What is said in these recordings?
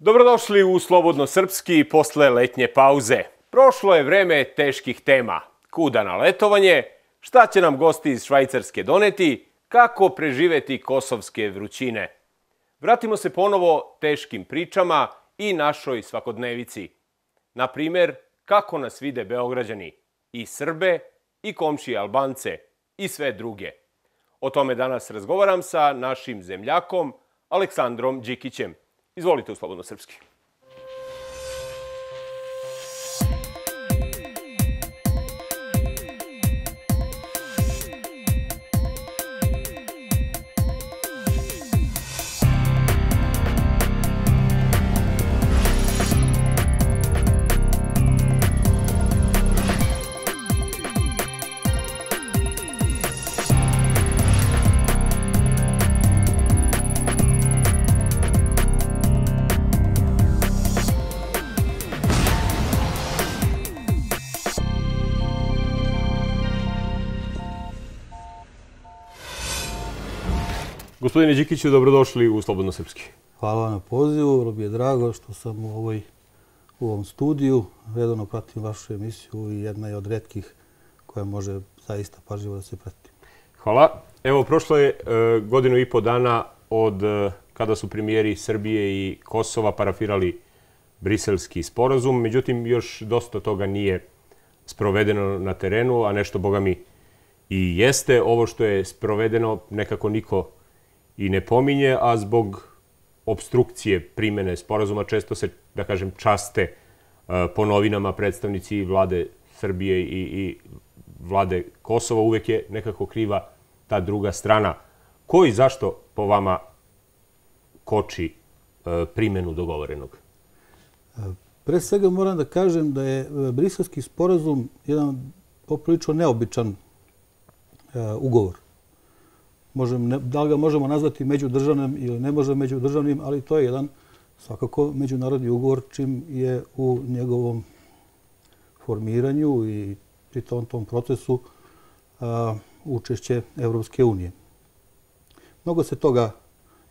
Dobrodošli u Slobodno srpski posle letnje pauze. Prošlo je vreme teških tema. Kuda na letovanje, šta će nam gosti iz Švajcarske doneti, kako preživeti kosovske vrućine. Vratimo se ponovo teškim pričama i našoj svakodnevici. Na primer, kako nas vide Beograđani, i Srbe, i komšije Albance, i sve druge. O tome danas razgovaram sa našim zemljakom Aleksandrom Đikićem. Izvolite u Slobodno srpski. Gospodine Đikiću, dobrodošli u Slobodno srpski. Hvala vam na pozivu. Vrlo mi je drago što sam u ovom studiju. Redovno pratim vašu emisiju i jedna je od retkih koja može zaista pažljivo da se prati. Hvala. Evo, prošlo je godinu i po dana od kada su premijeri Srbije i Kosova parafirali Briselski sporazum. Međutim, još dosta toga nije sprovedeno na terenu, a nešto, boga mi, i jeste. Ovo što je sprovedeno nekako niko i ne pominje, a zbog obstrukcije primene sporazuma često se, da kažem, časte po novinama predstavnici vlade Srbije i vlade Kosova. Uvek je nekako kriva ta druga strana. Ko i zašto po vama koči primenu dogovorenog? Pre svega moram da kažem da je Briselski sporazum jedan poprilično neobičan ugovor. Da li ga možemo nazvati međudržavnim ili ne možemo međudržavnim, ali to je jedan svakako međunarodni ugovor čim je u njegovom formiranju i pri tom procesu učešće Evropske unije. Mnogo se toga,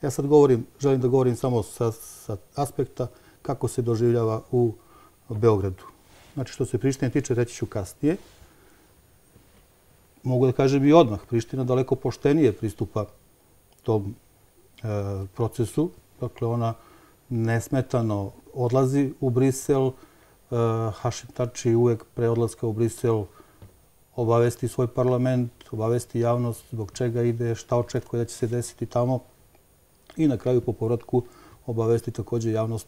ja sad želim da govorim samo sa aspekta kako se doživljava u Beogradu. Znači, što se Prištine tiče, reći ću kasnije. Mogu da kažem i odmah, Priština daleko poštenije pristupa tom procesu. Dakle, ona nesmetano odlazi u Brisel. Hašim Tači uvek pre odlaska u Brisel obavesti svoj parlament, obavesti javnost zbog čega ide, šta očekuje da će se desiti tamo i na kraju po povratku obavesti također javnost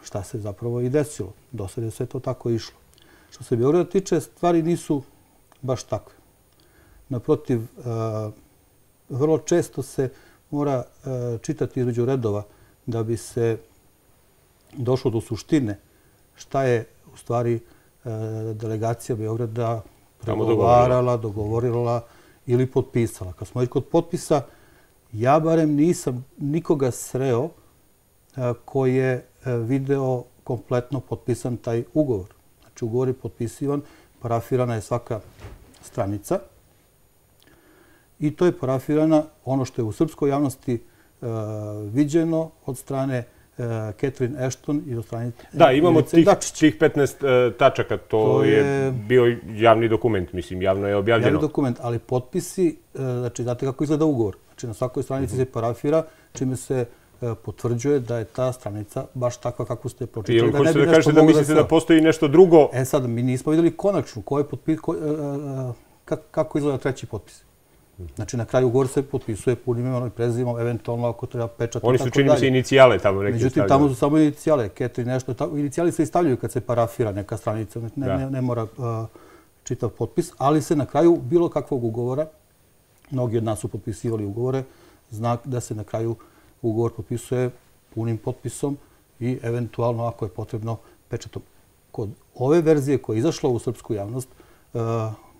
šta se zapravo i desilo. Do sada je sve to tako išlo. Što se Beograda tiče, stvari nisu baš takve. Naprotiv, vrlo često se mora čitati između redova da bi se došlo do suštine šta je u stvari delegacija Beograda pregovarala, dogovorila ili potpisala. Kad smo već kod potpisa, ja barem nisam nikoga sreo koji je video kompletno potpisan taj ugovor. Znači, ugovor je potpisivan, parafirana je svaka stranica i to je parafirana ono što je u srpskoj javnosti viđeno od strane Catherine Ashton i od strane Da, imamo tih 15 tačaka. To je bio javni dokument, mislim, javno je objavljeno. Javni dokument, ali potpisi, znači, znate kako izgleda ugovor. Znači, na svakoj stranici se parafira, čime se potvrđuje da je ta stranica baš takva kako ste pročitali. Hoćete da kažete da mislite da postoji nešto drugo? Sad, mi nismo vidjeli konačno kako izgleda treći potpis. Znači, na kraju ugovor se potpisuje punim imenom i prezimenom, eventualno ako treba pečat. Oni su, čini mi se, inicijale tamo neke stavljaju. Međutim, tamo su samo inicijale. Inicijali se i stavljaju kad se parafira neka stranica. Ne mora čitav potpis, ali se na kraju bilo kakvog ugovora, mnogi od nas su potpisivali ugovore, znak da se na kraju ugovor potpisuje punim potpisom i eventualno, ako je potrebno, pečatom. Kod ove verzije koja je izašla u srpsku javnost,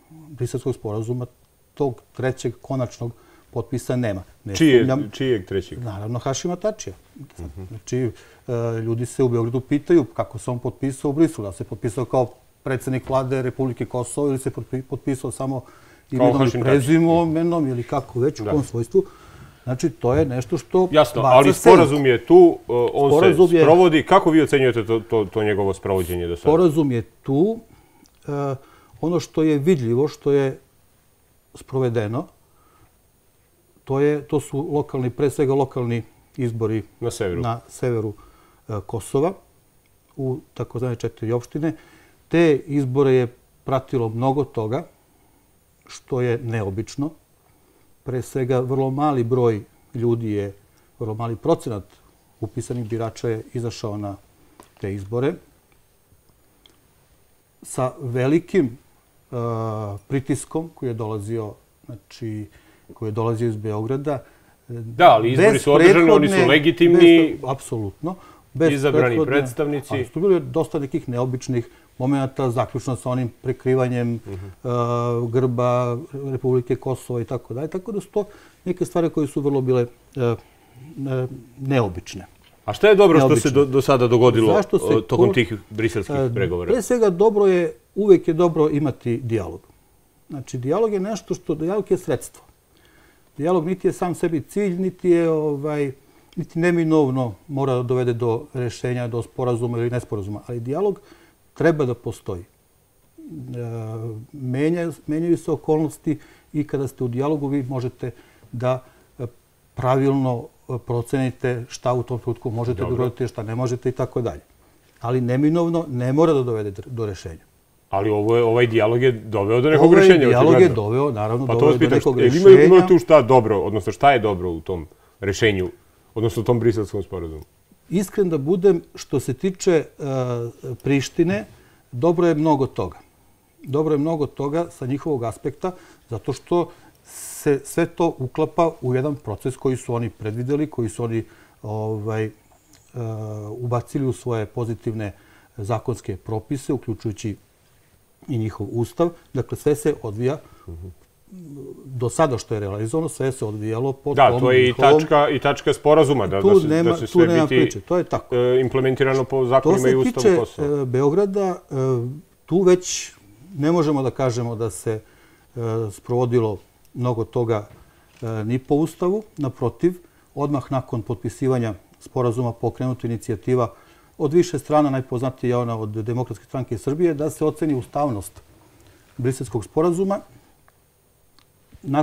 Briselskog sporazuma, tog trećeg konačnog potpisa nema. Čijeg trećeg? Naravno, Hašima Tačija. Znači, ljudi se u Beogradu pitaju kako se on potpisao u Briselu. Da se potpisao kao predsjednik vlade Republike Kosovo ili se potpisao samo imenom i prezimenom ili kako već u tom svojstvu. Znači, to je nešto što jasno, baca ali senku. sporazum je tu, on se sprovodi. Kako vi ocenjujete to njegovo sprovođenje do sada? Sporazum je tu. Ono što je vidljivo, što je sprovedeno, to su lokalni, pre svega lokalni izbori na severu Kosova, u takozvane 4 opštine. Te izbore je pratilo mnogo toga, što je neobično. Pre svega, vrlo mali broj ljudi je, vrlo mali procenat upisanih birača je izašao na te izbore. Sa velikim pritiskom koji je dolazio, znači, koji je dolazio iz Beograda. Da, ali izbori su održani, oni su legitimni. Apsolutno. Izabrani predstavnici. Ali su bili dosta nekih neobičnih momenta, zaključno sa onim prekrivanjem grba Republike Kosova i tako dalje. Tako da su to neke stvari koje su vrlo bile neobične. A šta je dobro što se do sada dogodilo tokom tih briselskih pregovora? Pre svega, uvek je dobro imati dijalog. Znači, dijalog je nešto dijalog je sredstvo. Dijalog niti je sam sebi cilj, niti neminovno mora da dovede do rešenja, do sporazuma ili nesporazuma. Ali dijalog treba da postoji. Menjaju se okolnosti i kada ste u dijalogu vi možete da pravilno procenite šta u tom trenutku možete da uradite, šta ne možete i tako dalje. Ali neminovno ne mora da dovede do rešenja. Ali ovaj dijalog je doveo do nekog rešenja. Ovaj dijalog je doveo, naravno, doveo do nekog rešenja. Ima tu šta dobro, odnosno šta je dobro u tom rešenju, odnosno u tom briselskom sporazumu? Iskren da budem, što se tiče Prištine, dobro je mnogo toga. Dobro je mnogo toga sa njihovog aspekta, zato što se sve to uklapa u jedan proces koji su oni predvideli, koji su oni ubacili u svoje pozitivne zakonske propise, uključujući i njihov ustav. Dakle, sve se odvija, do sada što je realizovano, sve se odvijalo po tom njihovom... Da, to je i tačka sporazuma, da će sve biti implementirano po zakonima i ustavu Kosova. To se tiče Beograda, tu već ne možemo da kažemo da se sprovodilo mnogo toga ni po ustavu. Naprotiv, odmah nakon potpisivanja sporazuma pokrenuta inicijativa od više strana, najpoznatija je ona od Demokratske stranke Srbije, da se oceni ustavnost briselskog sporazuma.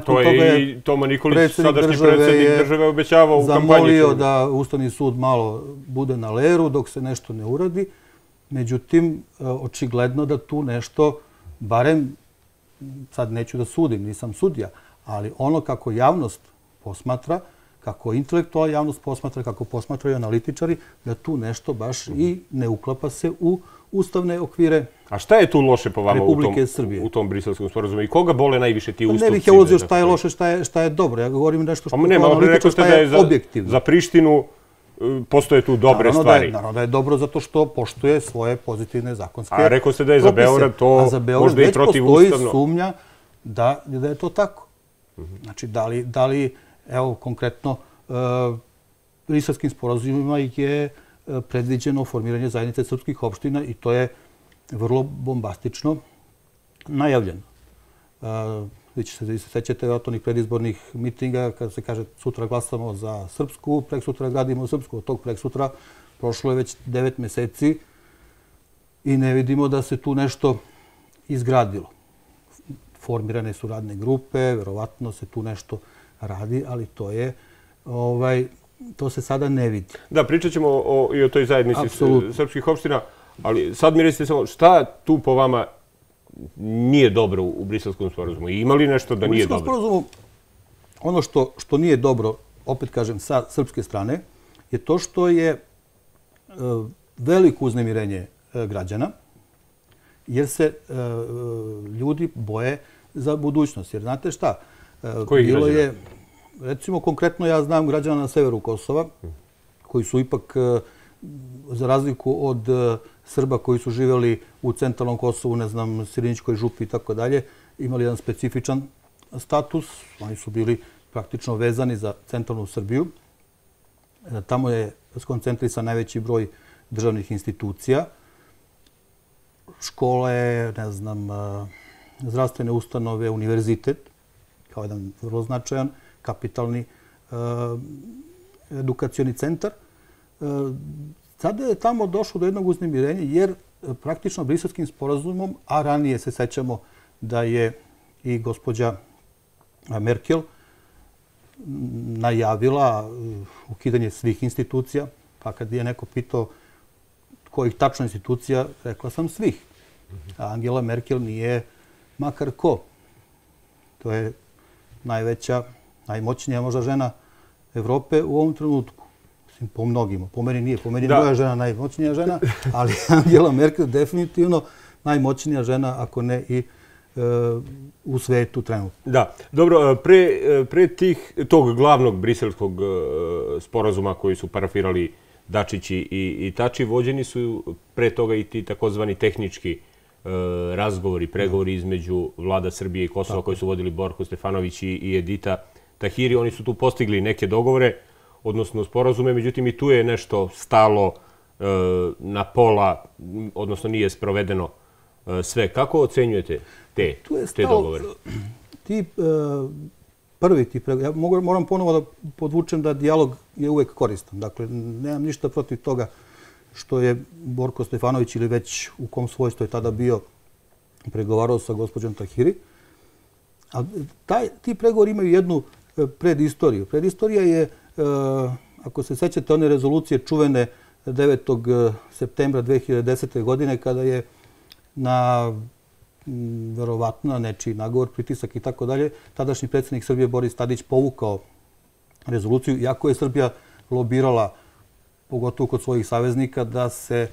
To je i Toma Nikolić, sadašnji predsjednik države, obećavao u kampanji. Zamolio da Ustavni sud malo bude na leru dok se nešto ne uradi. Međutim, očigledno da tu nešto, barem, sad neću da sudim, nisam sudija, ali ono kako javnost posmatra, kako intelektualna javnost posmatra, kako posmatraju analitičari, da tu nešto baš i ne uklapa se u ustavne okvire Republike Srbije. A šta je tu loše po vama u tom briselskom sporazumu? I koga bole najviše ti ustupci? Ne bih ja ulazio šta je loše, šta je dobro. Ja govorim nešto što je analitičar, šta je objektivno. Za Prištinu postoje tu dobre stvari. Naravno da je dobro zato što poštuje svoje pozitivne zakonske propise. A rekao ste da je za Beograd to možda i protivustavno. Već postoji sumnja da je to tako. Znači, da li evo, konkretno, briselskim sporazumima je predviđeno formiranje zajednice srpskih opština i to je vrlo bombastično najavljeno. Vi se sećate od onih predizbornih mitinga kada se kaže sutra glasamo za Srpsku, preksutra gradimo Srpsku. Od tog preksutra prošlo je već 9 meseci i ne vidimo da se tu nešto izgradilo. Formirane su radne grupe, verovatno se tu nešto radi, ali to se sada ne vidi. Da, pričat ćemo i o toj zajednici srpskih opština, ali sad mi recite samo šta tu po vama nije dobro u briselskom sporazumu? Ima li nešto da nije dobro? U briselskom sporazumu ono što nije dobro, opet kažem, sa srpske strane, je to što je veliko uznemirenje građana, jer se ljudi boje za budućnost. Jer znate šta? Koji građana? Recimo, konkretno ja znam građana na severu Kosova, koji su ipak, za razliku od Srba koji su živjeli u centralnom Kosovu, ne znam, Sirinićkoj župi i tako dalje, imali jedan specifičan status. Oni su bili praktično vezani za centralnu Srbiju. Tamo je skoncentrisan najveći broj državnih institucija, škole, ne znam, zdravstvene ustanove, univerzitet, kao jedan vrlo značajan, kapitalni edukacioni centar. Sada je tamo došlo do jednog uznemirenja jer praktično Briselskim sporazumom, a ranije se sećamo da je i gospođa Merkel najavila ukidanje svih institucija, pa kad je neko pitao kojih tačno institucija, rekla sam svih. A Angela Merkel nije makar ko. To je najveća, najmoćnija možda žena Evrope u ovom trenutku. Mislim, po mnogima. Po meni nije. Po meni je moja žena najmoćnija žena, ali Angela Merkel definitivno najmoćnija žena, ako ne i u svetu trenutno. Da. Dobro, pre tog glavnog briselskog sporazuma koji su parafirali Dačić i Tači, vođeni su pre toga i ti takozvani tehnički razgovori, pregovori između vlada Srbije i Kosova koji su vodili Borko Stefanović i Edita Tahiri. Oni su tu postigli neke dogovore, odnosno sporazume, međutim i tu je nešto stalo na pola, odnosno nije sprovedeno sve. Kako ocenjujete te dogovore? Ja moram ponovo da podvučem da dijalog je uvek koristan. Dakle, nemam ništa protiv toga što je Borko Stefanović ili već u kom svojstvu je tada bio pregovarao sa gospođom Tahiri. A ti pregovori imaju jednu predistoriju. Predistorija je, ako se sećate, one rezolucije čuvene 9. septembra 2010. godine kada je na verovatno nečiji nagovor, pritisak i tako dalje, tadašnji predsjednik Srbije Boris Tadić povukao rezoluciju, iako je Srbija lobirala, pogotovo kod svojih saveznika, da se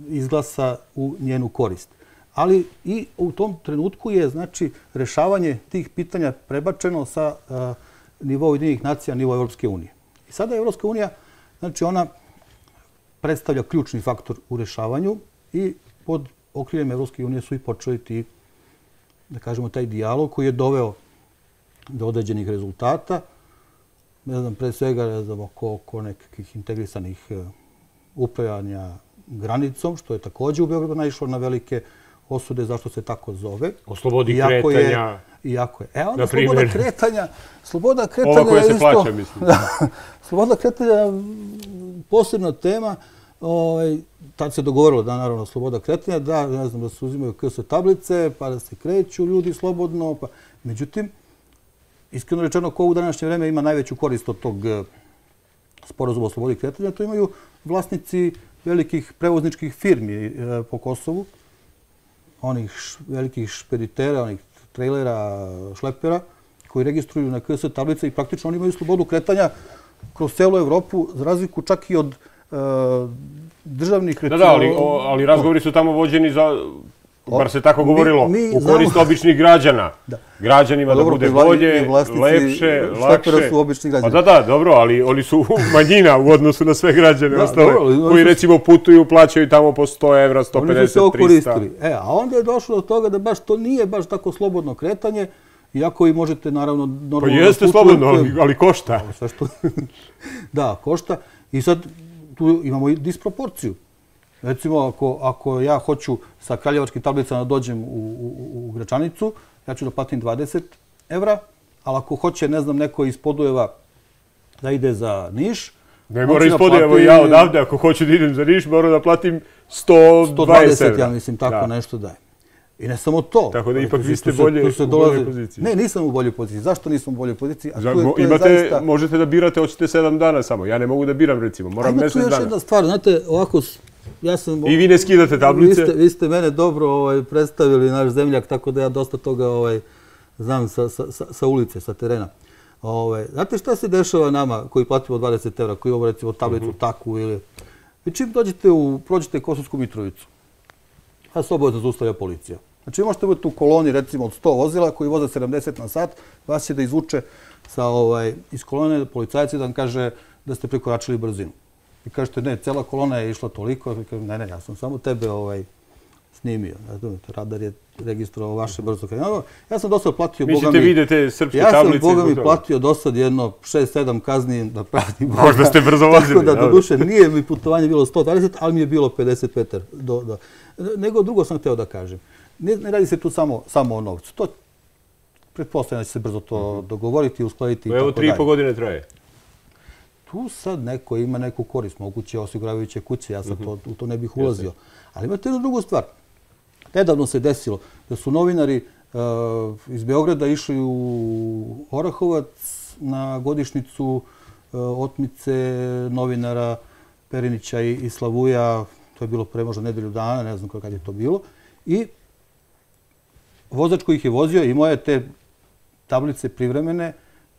izglasa u njenu korist. Ali i u tom trenutku je, znači, rešavanje tih pitanja prebačeno sa nivoa Ujedinjenih nacija na nivo Evropske unije. I sada Evropska unija, znači, ona predstavlja ključni faktor u rešavanju i pod okriljem Evropske unije su i počeli ti, da kažemo, taj dijalog koji je doveo do određenih rezultata. Ne znam, pre svega, ne znam, oko nekakvih integrisanih upravljanja granicom, što je također u Beogradu naišlo na velike osude zašto se tako zove. O slobodi kretanja, na primjer. Sloboda kretanja ova koja se plaća, mislim. Sloboda kretanja je posebna tema. Tad se dogovorilo da, naravno, sloboda kretanja, da, ne znam, da se uzimaju KS tablice, pa da se kreću ljudi slobodno. Međutim, iskreno rečeno, ko u današnje vreme ima najveću korist od tog sporazuma o slobodi kretanja, to imaju vlasnici velikih prevozničkih firmi po Kosovu, onih velikih špeditera, onih trejlera, šlepera, koji registruju na KS tablice i praktično oni imaju slobodu kretanja kroz celu Evropu, za razliku čak i od državnih... Da, ali razgovori su tamo vođeni za, bar se tako govorilo, u korist običnih građana. Građanima da bude bolje, lepše, lakše. Su obični građani. Da, dobro, ali oni su manjina u odnosu na sve građane ostale, koji recimo putuju, plaćaju tamo po 100 evra, 150, 300. Oni su se okoristili. A onda je došlo do toga da baš to nije baš tako slobodno kretanje, iako i možete, naravno... Pa jeste slobodno, ali košta. Da, košta. I sad tu imamo i disproporciju. Recimo, ako ja hoću sa kraljevačkim tablicama da dođem u Gračanicu, ja ću da platim 20 evra, ali ako hoće, ne znam, neko iz Podujeva da ide za Niš... Ne mora iz Podujeva, ja odavde, ako hoću da idem za Niš, moram da platim 120 evra. Ja mislim, tako nešto daje. I ne samo to. Tako da ipak vi ste u boljoj poziciji. Ne, nisam u boljoj poziciji. Zašto nisam u boljoj poziciji? Možete da birate, hoćete 7 dana samo. Ja ne mogu da biram, recimo. Moram mjesec dana. Tu još jedna stvar. Znate, ovako... I vi ne skidate tablice? Vi ste mene dobro predstavili, naš zemljak, tako da ja dosta toga znam sa ulice, sa terena. Znate šta se dešava nama koji platimo 20 evra, koji imamo recimo tablicu takvu ili... Vi čim prođete Kosovsku Mitrovicu, a se obavezno zaustavlja policija. Znači, možete biti u koloni, recimo, od 100 vozila koji voze 70 na sat, vas će da izvuče iz kolone policajac i da vam kaže da ste prekoračili brzinu. I kažete, ne, cela kolona je išla toliko. Ne, ja sam samo tebe snimio. Radar je registrovao vaše brzo. Ja sam dosad platio, boga mi... Mislite, vidite srpske tablice? Ja sam, boga mi, platio dosad jedno 6-7 kazni da pratim. Možda ste brzo vozili. Tako da, doduše, nije mi putovanje bilo 120, ali mi je bilo 55 metara. Nego drugo sam hteo da kažem. Ne radi se tu samo o novcu. pretpostavljam da će se brzo to dogovoriti, uskladiti i tako dalje. Evo 3,5 godine traje. Tu sad neko ima neku korist, moguće osiguravajuće kuće, ja sad u to ne bih ulazio. Ali imate jednu drugu stvar. Nedavno se desilo da su novinari iz Beograda išli u Orahovac na godišnjicu otmice novinara Perinića i Slavuja. To je bilo pre možda nedelju dana, ne znam kad je to bilo. I vozač koji ih je vozio imao je te tablice privremene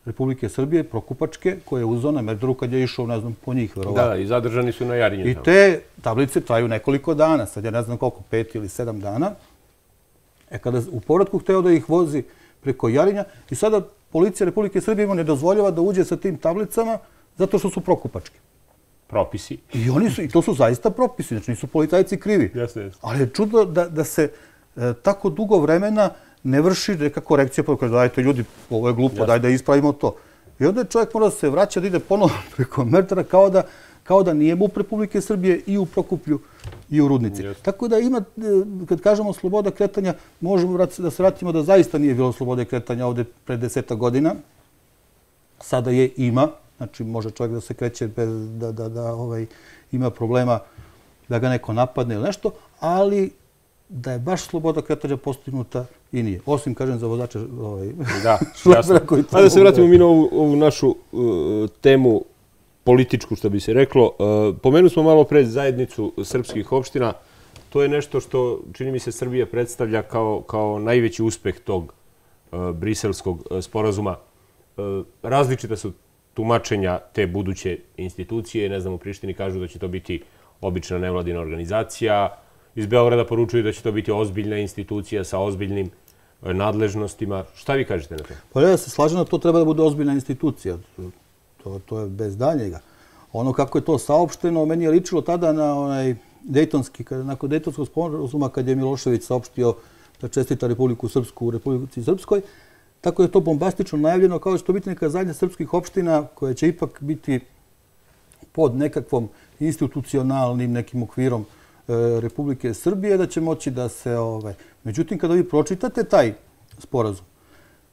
Republike Srbije, prokupačke, koje je uzeo na Merdaru kad je išao, ne znam, po njih, verovatno. Da, i zadržani su na Jarinju. I te tablice traju nekoliko dana, sad ja ne znam koliko, 5 ili 7 dana. Kada u povratku hteo da ih vozi preko Jarinja i sada policija Republike Srbije mu ne dozvoljava da uđe sa tim tablicama zato što su prokupačke. Propisi. I to su zaista propisi, znači nisu policajci krivi. Ali je čudno da se tako dugo vremena ne vrši neka korekcija, pa kaže, dajte ljudi, ovo je glupo, daj da ispravimo to. I onda čovjek mora da se vraća, da ide ponovno preko Merdara, kao da nije MUP Republike Srbije i u Prokuplju i u Rudnici. Tako da ima, kad kažemo sloboda kretanja, možemo da se vratimo da zaista nije bilo slobode kretanja ovde pre 10 godina. Sada je ima, znači može čovjek da se kreće bez da ima problema da ga neko napadne ili nešto, ali da je baš sloboda kretanja postignuta i nije. Osim, kažem, za vozače šlepera koji to... Da se vratimo mi na ovu našu temu političku, što bi se reklo. Pomenuli smo malo pre zajednicu srpskih opština. To je nešto što, čini mi se, Srbija predstavlja kao najveći uspeh tog briselskog sporazuma. Različita su tumačenja te buduće institucije. Ne znam, u Prištini kažu da će to biti obična nevladina organizacija. Iz Beograda poručuju da će to biti ozbiljna institucija sa ozbiljnim nadležnostima. Šta vi kažete na to? Pa ja se slažem da to treba da bude ozbiljna institucija. To je bez daljnjega. Ono kako je to saopšteno, meni je ličilo tada na nakon Dejtonskog sporazuma kad je Milošević saopštio da čestita Republiku Srpsku u Republici Srpskoj. Tako je to bombastično najavljeno kao da će to biti neka zajednica srpskih opština koja će ipak biti pod nekakvom institucionalnim nekim okvirom Republike Srbije, da će moći da se... Međutim, kada vi pročitate taj sporazum,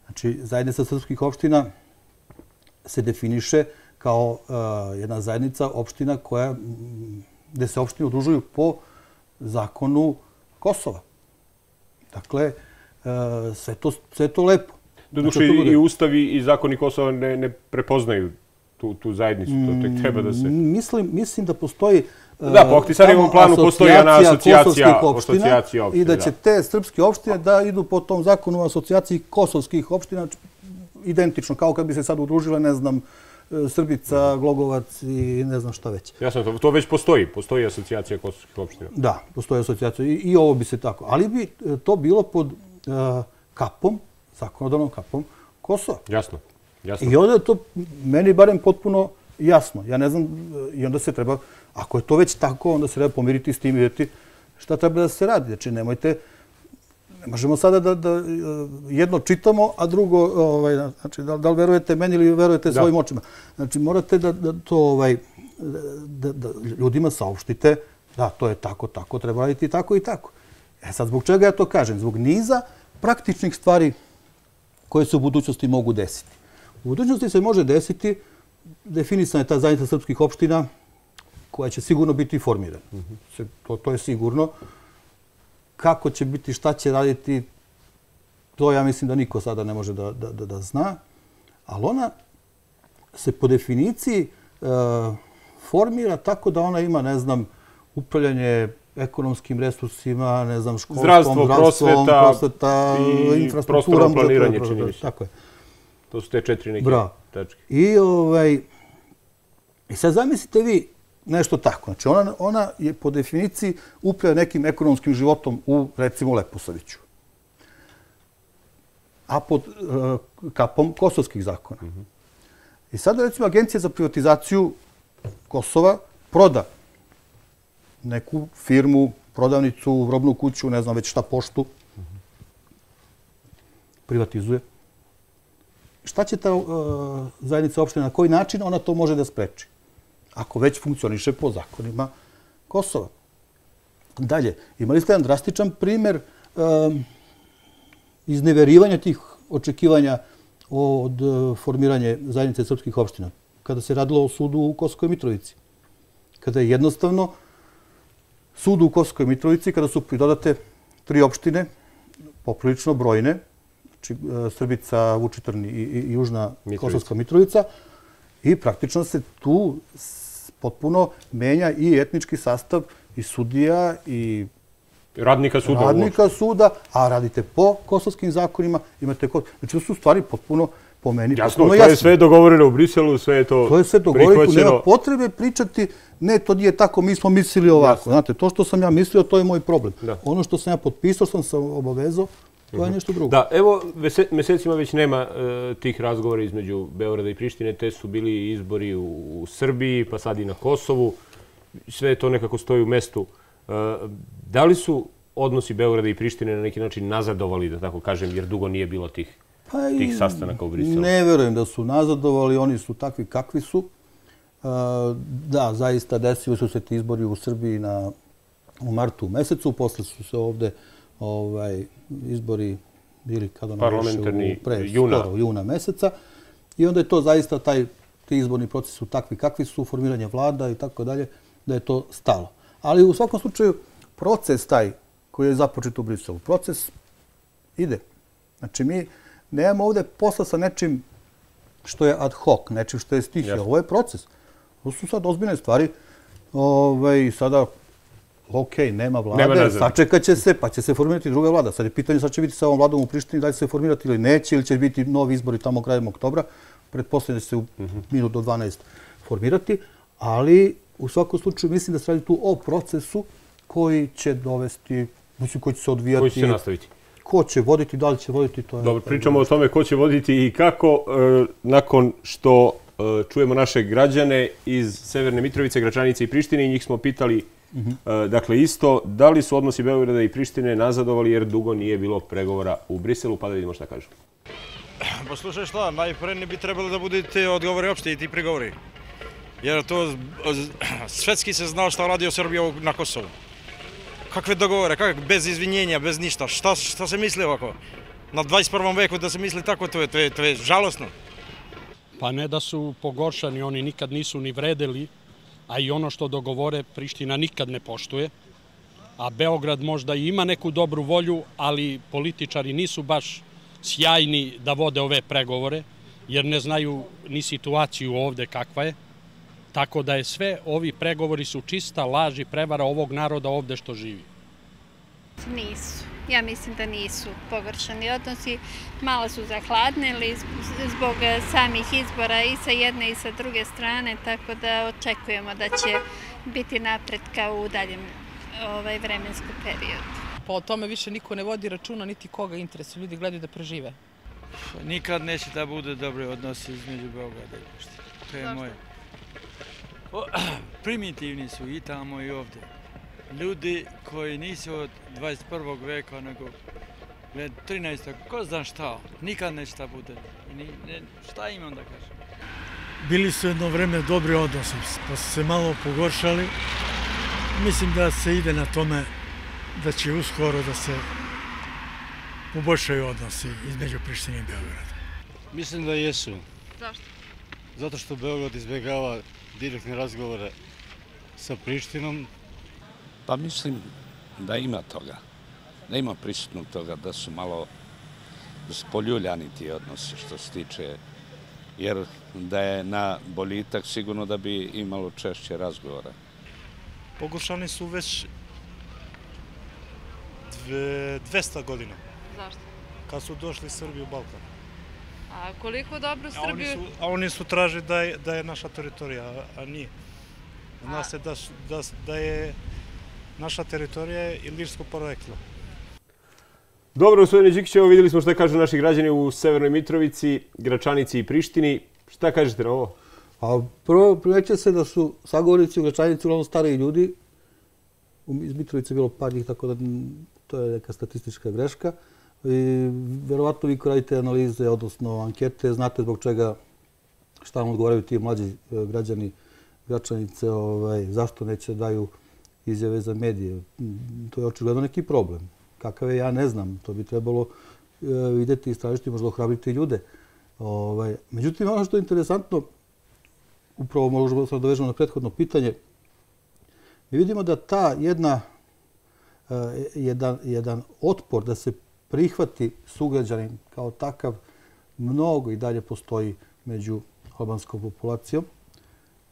znači zajednica srpskih opština se definiše kao jedna zajednica opština gde se opštine udružuju po zakonu Kosova. Dakle, sve to lepo. Doduše i ustavi i zakoni Kosova ne prepoznaju tu zajednicu, to tek treba da se... Mislim da postoji... Da, po Ahtisarijevom planu postoji jedna asocijacija opština i da će te srpske opštine da idu po tom zakonu o asocijaciji kosovskih opština identično, kao kad bi se sad udružile, ne znam, Srbica, Glogovac i ne znam šta već. Jasno, to već postoji. Postoji asocijacija kosovskih opština. Da, postoji asocijacija i ovo bi se tako. Ali bi to bilo pod kapom, zakonodavnom kapom Kosova. Jasno. I onda je to meni barem potpuno jasno. Ja ne znam, i onda se treba, ako je to već tako, onda se treba pomiriti s tim i vidjeti šta treba da se radi. Znači, nemojte, ne možemo sada da jedno čitamo, a drugo, znači, da li verujete meni ili verujete svojim očima. Znači, morate da ljudima saopštite da to je tako, treba raditi tako i tako. Sad, zbog čega ja to kažem? Zbog niza praktičnih stvari koje se u budućnosti mogu desiti. U budućnosti se može desiti, definisana je ta zajednica srpskih opština koja će sigurno biti formirana. To je sigurno. Kako će biti, šta će raditi, to ja mislim da niko sada ne može da zna. Ali ona se po definiciji formira tako da ona ima, ne znam, upravljanje ekonomskim resursima, ne znam, školstvom, zdravstvom, prosveta i prostorno planiranje, čini mi se. Tako je. To su te 4 neke tačke. I sad zamislite vi nešto tako. Znači, ona je po definiciji upravlja nekim ekonomskim životom u, recimo, Leposaviću. A pod kapom kosovskih zakona. I sada, recimo, Agencija za privatizaciju Kosova proda neku firmu, prodavnicu, robnu kuću, ne znam već šta, poštu. Privatizuje. Šta će ta zajednica opština, na koji način ona to može da spreči? Ako već funkcioniše po zakonima Kosova. Dalje, imali ste jedan drastičan primer izneverivanja tih očekivanja od formiranja zajednice srpskih opština. Kada se radilo o sudu u Kosovskoj Mitrovici. Kada je jednostavno sudu u Kosovskoj Mitrovici, kada su pridodate 3 opštine, poprilično brojne, znači Srbica, Vučitrn i Južna Kosovska Mitrovica, i praktično se tu potpuno menja i etnički sastav i sudija i radnika suda, a radite po kosovskim zakonima, imate znači to su stvari potpuno po meni. Jasno, to je sve dogovoreno u Briselu, sve je to je sve dogovoreno, nema potrebe pričati, ne, to nije tako, mi smo mislili ovako. Znate, to što sam ja mislio, to je moj problem. Ono što sam ja potpisao, sam se obavezao, to je nešto drugo. Da, evo, mesecima već nema tih razgovora između Beograda i Prištine, te su bili izbori u Srbiji, pa sad i na Kosovu, sve to nekako stoji u mestu. Da li su odnosi Beograda i Prištine na neki način nazadovali, da tako kažem, jer dugo nije bilo tih sastanaka u Briselu? Ne verujem da su nazadovali, oni su takvi kakvi su. Da, zaista desili su se ti izbori u Srbiji u martu mesecu, posle su se ovde izbori bili kada parlamentarni juna meseca i onda je to zaista ti izborni procesi su takvi kakvi su, formiranje vlada i tako dalje, da je to stalo. Ali u svakom slučaju proces taj koji je započet u Briselu, proces ide. Znači mi nemamo ovde posla sa nečim što je ad hoc, nečim što je stihija. Ovo je proces. To su sad ozbiljne stvari. Sada, nema vlade, sačekat će se, pa će se formirati druga vlada. Sad je pitanje, sad će biti sa ovom vladom u Prištini, da li će se formirati ili neće, ili će biti novi izbori tamo krajem oktobra. Pretpostavljam da će se u minut do 12 formirati, ali u svakom slučaju mislim da se radi tu o procesu koji će dovesti, mislim koji će se odvijati. Koji će se nastaviti. Ko će voditi, da li će voditi, to je... Dobro, pričamo o tome ko će voditi i kako. Nakon što čujemo naše građane iz Severne Mitrovice, Gračanice i Prištine, njih smo pitali, dakle isto, da li su odnosi Beograda i Prištine nazadovali jer dugo nije bilo pregovora u Briselu, pa da vidimo šta kažu. Pa slušaj šta, najpre ne bi trebalo da budu ti odgovori opšte i ti pregovori. Jer to svetski se znao šta radi o Srbiji na Kosovu. Kakve dogovore, bez izvinjenja, bez ništa. Šta se misli ovako? Na 21. veku da se misli tako, to je žalosno. Pa ne da su pogoršani, oni nikad nisu ni vredeli, a i ono što dogovore Priština nikad ne poštuje. A Beograd možda i ima neku dobru volju, ali političari nisu baš sjajni da vode ove pregovore, jer ne znaju ni situaciju ovde kakva je. Tako da je sve, ovi pregovori su čista laž i prevara ovog naroda ovde što živi. Nisu. Ja mislim da nisu pogoršani odnosi. Malo su zahladnili zbog samih izbora i sa jedne i sa druge strane, tako da očekujemo da će biti napretka u daljem vremenskom periodu. Pa o tome više niko ne vodi računa, niti koga interesuje. Ljudi gledaju da prežive. Nikad neće da bude dobri odnosi između Beograda i Prištine. To je moje. Primitivni su i tamo i ovde. Ljudi koji nisu od 21. veka, nego 13. ko zna šta, nikad neće da bude. Šta imam da kažem? Bili su jedno vreme dobri odnosi, pa su se malo pogoršali. Mislim da se ide na tome da će uskoro da se poboljšaju odnosi između Prištine i Beograda. Mislim da jesu. Zašto? Zato što Beograd izbjegava direktne razgovore sa Prištinom. Pa mislim da ima toga, da ima prisutnog toga, da su malo spoljuljani ti odnosi što se tiče, jer da je na boljitak sigurno da bi imalo češće razgovora. Pogoršani su već 200 godina. Zašto? Kad su došli Srbi u Balkan. A koliko dobro Srbiju... A oni su tražili da je naša teritorija, a nije. Zna se da je naša teritorija ilirsko poreklo. Dobro, gospodine Đikić, evo vidjeli smo šta kažu naši građani u Severnoj Mitrovici, Gračanici i Prištini. Šta kažete na ovo? Prvo, primećuje se da su sagovornici u Gračanici uglavnom stariji ljudi. Iz Mitrovice je bilo par njih, tako da to je neka statistička greška. Verovatno vi ko radite analize, odnosno ankete, znate zbog čega šta vam odgovaraju ti mlađi građani Gračanice, zašto neće daju izjave za medije. To je očigledno neki problem. Kakav je, ja ne znam. To bi trebalo vidjeti i istražiti, možda ohrabriti ljude. Međutim, ono što je interesantno, upravo možemo se dovežemo na prethodno pitanje, mi vidimo da ta jedan otpor da se prihvati sugrađanin kao takav mnogo i dalje postoji među albanskom populacijom.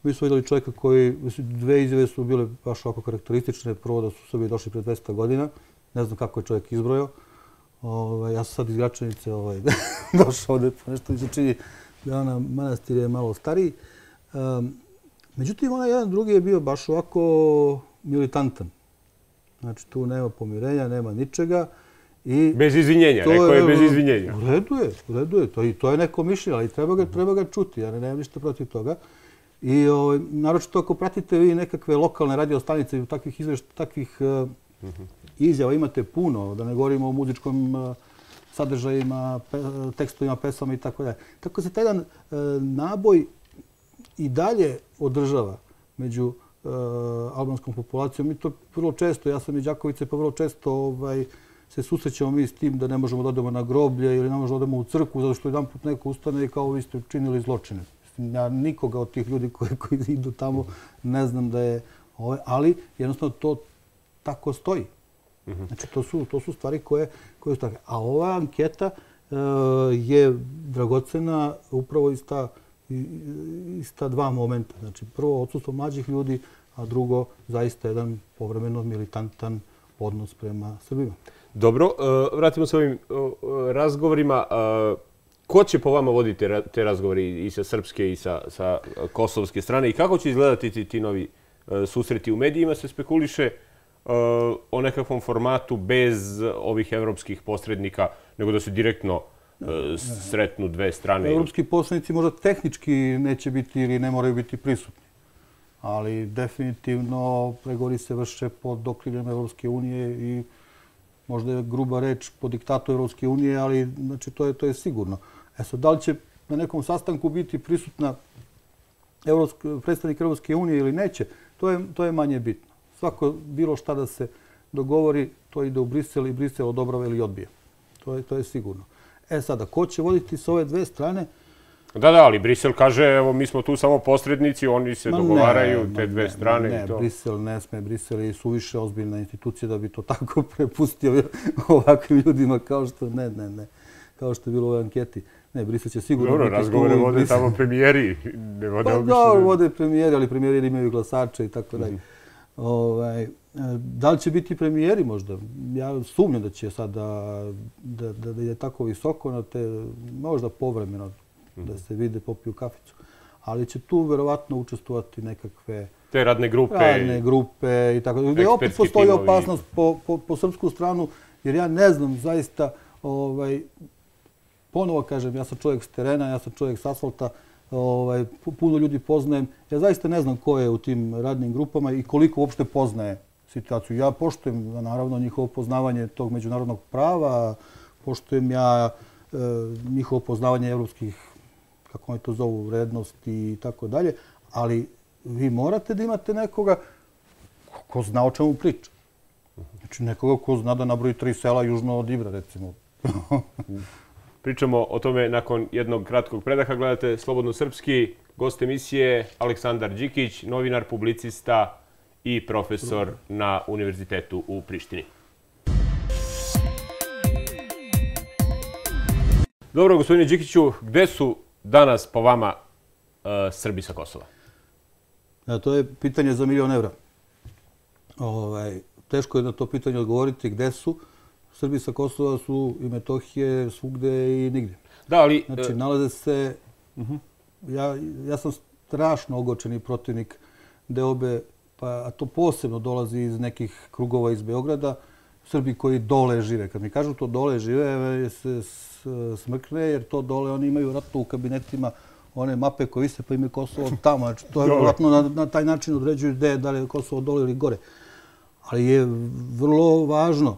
Mi smo vidjeli čovjeka koji, dve izjave su bile baš ovako karakteristične. Prvo da su Srbiji došli pre 200 godina. Ne znam kako je čovjek izbrojao. Ja sam sad iz Gračanice došao ovdje, pa nešto mi se čini da ona manastir je malo stariji. Međutim, onaj jedan drugi je bio baš ovako militantan. Znači, tu nema pomirenja, nema ničega. Bez izvinjenja, rekao je bez izvinjenja. U redu je. To je neko mišljenje, ali treba ga čuti. Ja nemam ništa protiv toga. I naročito ako pratite vi nekakve lokalne radio stanice i takvih izjava imate puno, da ne govorimo o muzičkom sadržajima, tekstovima, pesama i tako dalje. Tako se taj jedan naboj i dalje održava među albanskom populacijom. Mi to vrlo često, ja sam iz Đakovice, pa vrlo često se susrećemo mi s tim da ne možemo da odemo na groblje ili ne možemo da odemo u crkvu zato što jedan put neko ustane i kao vi ste činili zločine. Ja nikoga od tih ljudi koji idu tamo ne znam da je... Ali jednostavno to tako stoji. Znači to su stvari koje su takve. A ova anketa je dragocena upravo iz ta dva momenta. Znači prvo odsustvo mlađih ljudi, a drugo zaista jedan povremeno militantan odnos prema Srbima. Dobro, vratimo se ovim razgovorima. Ko će po vama voditi te razgovori i sa srpske i sa kosovske strane i kako će izgledati ti novi susreti? U medijima se spekuliše o nekakvom formatu bez ovih evropskih posrednika, nego da se direktno sretnu dve strane. Evropski posrednici možda tehnički neće biti ili ne moraju biti prisutni, ali definitivno pregovori se vrše pod okriljem Evropske unije i možda je gruba reč po diktatu Evropske unije, ali znači, to je sigurno. Sad, da li će na nekom sastanku biti prisutna predstavnik Evropske unije ili neće, to je manje bitno. Svako bilo šta da se dogovori, to ide u Brisel i Brisel odobrava ili odbije. To je sigurno. Sada, ko će voditi s ove dve strane? Da, ali Brisel kaže, evo, mi smo tu samo posrednici, oni se dogovaraju, te dve strane. Ne, Brisel ne sme. Brisel je suviše ozbiljna institucija da bi to tako prepustio ovakvim ljudima kao što kao što je bilo u ovoj anketi. Ne, Brisel će sigurno biti tu. Dobro, razgovore vode tamo premijeri. Da, vode premijeri, ali premijeri imaju glasače i tako dalje. Da li će biti premijeri možda? Ja sumnjam da će sad da je tako visoko na te, možda povremeno da se vide, popiju kaficu. Ali će tu verovatno učestvovati nekakve te radne grupe i tako. Gdje opet postoji opasnost po srpsku stranu, jer ja ne znam zaista, ponovo kažem, ja sam čovjek s terena, ja sam čovjek s asfalta, puno ljudi poznajem. Ja zaista ne znam ko je u tim radnim grupama i koliko uopšte poznaje situaciju. Ja poštujem, naravno, njihovo poznavanje tog međunarodnog prava, poštujem ja njihovo poznavanje evropskih, kako oni to zovu, vrednosti i tako dalje, ali vi morate da imate nekoga ko zna o čemu priča. Znači nekoga ko zna da nabroji 3 sela južno od Ibra, recimo. Pričamo o tome nakon jednog kratkog predaha. Gledate Slobodno srpski, gost emisije Aleksandar Đikić, novinar, publicista i profesor na Univerzitetu u Prištini. Dobro, gospodine Đikiću, gde su danas po vama Srbi sa Kosova? To je pitanje za €1.000.000. Teško je na to pitanje odgovoriti gde su. Srbi sa Kosova su i Metohije svugde i nigdje. Da, ali... Znači, nalaze se... Ja sam strašno ogorčeni protivnik deobe, a to posebno dolazi iz nekih krugova iz Beograda, Srbi koji dole žive. Kad mi kažu to dole žive, se smrkne, jer to dole oni imaju vratno u kabinetima one mape koje vise pa im je Kosovo tamo. Znači, to je vratno na taj način određuju da li je Kosovo dole ili gore. Ali je vrlo važno.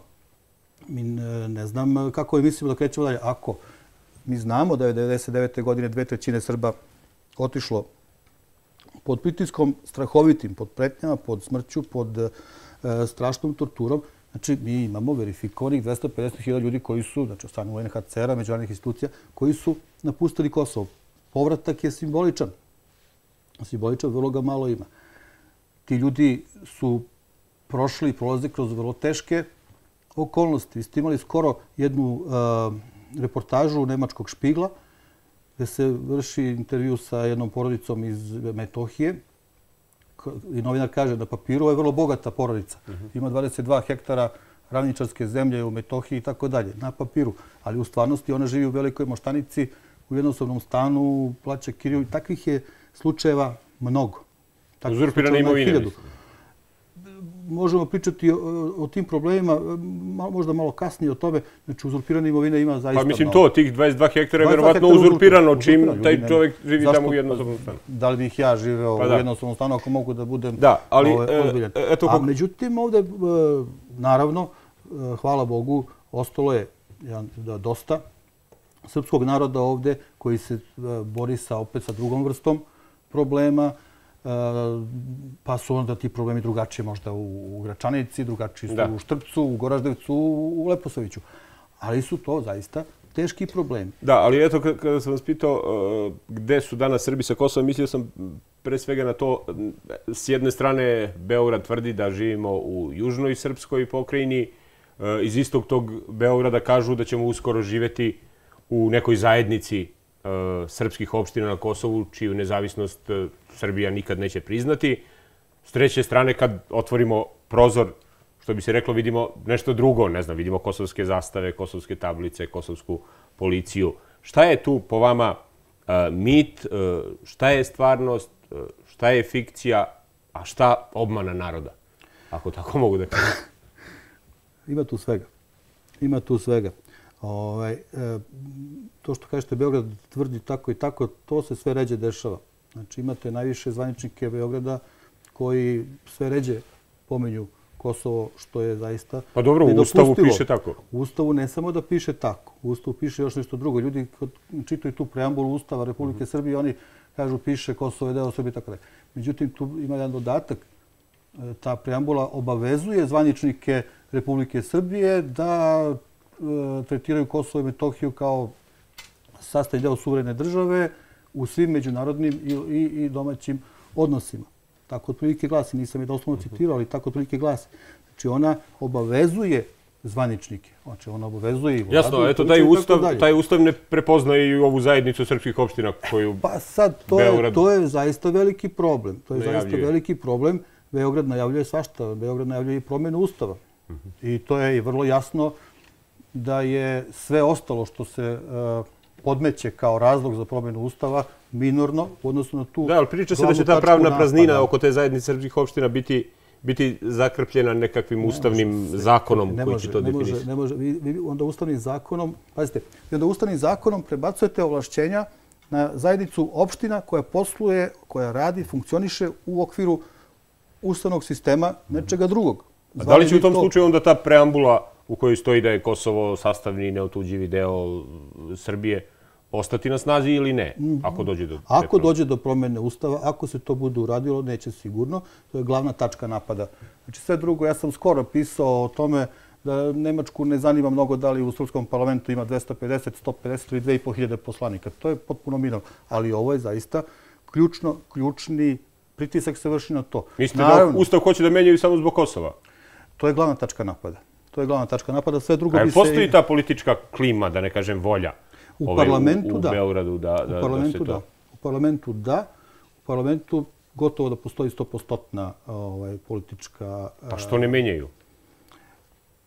Mi ne znam kako je mislimo da krećemo dalje. Ako mi znamo da je 1999. godine 2/3 Srba otišlo pod pritiskom strahovitim, pod pretnjama, pod smrću, pod strašnom torturom, Znači, mi imamo verifikovanih 250.000 ljudi koji su, znači od strane UNHCR-a, međunarodnih institucija, koji su napustili Kosovo. Povratak je simboličan. Simboličan, vrlo ga malo ima. Ti ljudi su prošli i prolaze kroz vrlo teške okolnosti. Vi ste imali skoro jednu reportažu nemačkog Špigla, gde se vrši intervju sa jednom porodicom iz Metohije. I novinar kaže na papiru je vrlo bogata porodica. Ima 22 hektara ravničarske zemlje u Metohiji i tako dalje, na papiru. Ali u stvarnosti ona živi u Velikoj Moštanici, u jednostavnom stanu, plaća kiriju. Takvih je slučajeva mnogo. Uzurpirane imovine. Možemo pričati o tim problemima, možda malo kasnije o tome. Znači, uzurpirane imovine ima zaista mnogo. Pa mislim to, tih 22 hektara je verovatno uzurpirano čim taj čovjek živi tamo u jednostavnom stanu. Da li bih ja živeo u jednostavnom stanu ako mogu da budem ozbiljan? A međutim, ovde, naravno, hvala Bogu, ostalo je dosta srpskog naroda ovde koji se bori opet sa drugom vrstom problema, pa su onda ti problemi drugačije možda u Gračanici, drugačiji su u Štrpcu, u Goraždevcu, u Leposaviću. Ali su to zaista teški problemi. Da, ali eto, kada sam vas pitao gde su danas Srbi sa Kosova, mislio sam pre svega na to, s jedne strane Beograd tvrdi da živimo u južnoj srpskoj pokrajini, iz istog tog Beograda kažu da ćemo uskoro živeti u nekoj zajednici srpskih opština na Kosovu, čiju nezavisnost Srbija nikad neće priznati. S treće strane, kad otvorimo prozor, što bi se reklo, vidimo nešto drugo, ne znam, vidimo kosovske zastave, kosovske tablice, kosovsku policiju. Šta je tu po vama mit, šta je stvarnost, šta je fikcija, a šta obmana naroda, ako tako mogu da kažem? Ima tu svega. Ima tu svega. To što kažete, Beograd tvrdi tako i tako, to se sve ređe dešava. Znači, imate najviše zvaničnike Beograda koji sve ređe pomenju Kosovo, što je zaista nedopustivo. Pa dobro, u Ustavu piše tako. U Ustavu ne samo da piše tako. U Ustavu piše još nešto drugo. Ljudi čitaju tu preambulu Ustava Republike Srbije, oni kažu piše Kosovo je deo Srbije i tako dalje. Međutim, tu ima jedan dodatak. Ta preambula obavezuje zvaničnike Republike Srbije da tretiraju Kosovo i Metohiju kao sastavni deo suverene države u svim međunarodnim i domaćim odnosima. Tako otprilike glasi, nisam je doslovno citirao, ali tako otprilike glasi. Znači ona obavezuje zvaničnike. Znači ona obavezuje i vladu. Jasno, eto taj ustav ne prepoznaje i ovu zajednicu srpskih opština koju Pa sad, to je zaista veliki problem. To je zaista veliki problem. Beograd najavljuje svašta. Beograd najavljuje i promjenu ustava. I to je i vrlo jasno da je sve ostalo što se podmeće kao razlog za promjenu ustava minorno u odnosu na tu... Da, ali priča se da će ta pravna praznina oko te zajednice srpskih opština biti zakrpljena nekakvim ustavnim zakonom koji će to definisati. Ne može. Vi onda ustavnim zakonom, pazite, vi onda ustavnim zakonom prebacujete ovlašćenja na zajednicu opština koja posluje, koja radi, funkcioniše u okviru ustavnog sistema nečega drugog. A da li će u tom slučaju onda ta preambula u kojoj stoji da je Kosovo sastavni i neotuđivi deo Srbije ostati na snazi ili ne, ako dođe do... Ako dođe do promjene ustava, ako se to bude uradilo, neće sigurno. To je glavna tačka napada. Znači sve drugo, ja sam skoro pisao o tome da Nemačku ne zanima mnogo da li u Srpskom parlamentu ima 250, 150 ili 2500 poslanika. To je potpuno minorno. Ali ovo je zaista ključni pritisak se vrši na to. Mislite da Ustav hoće da menjaju samo zbog Kosova? To je glavna tačka napada. To je glavna tačka napada. Sve drugo bi se... Postoji ta politička klima, da ne kažem volja u parlamentu, da. U Beogradu da se to... U parlamentu da. U parlamentu gotovo da postoji 100% politička... Pa što ne menjaju?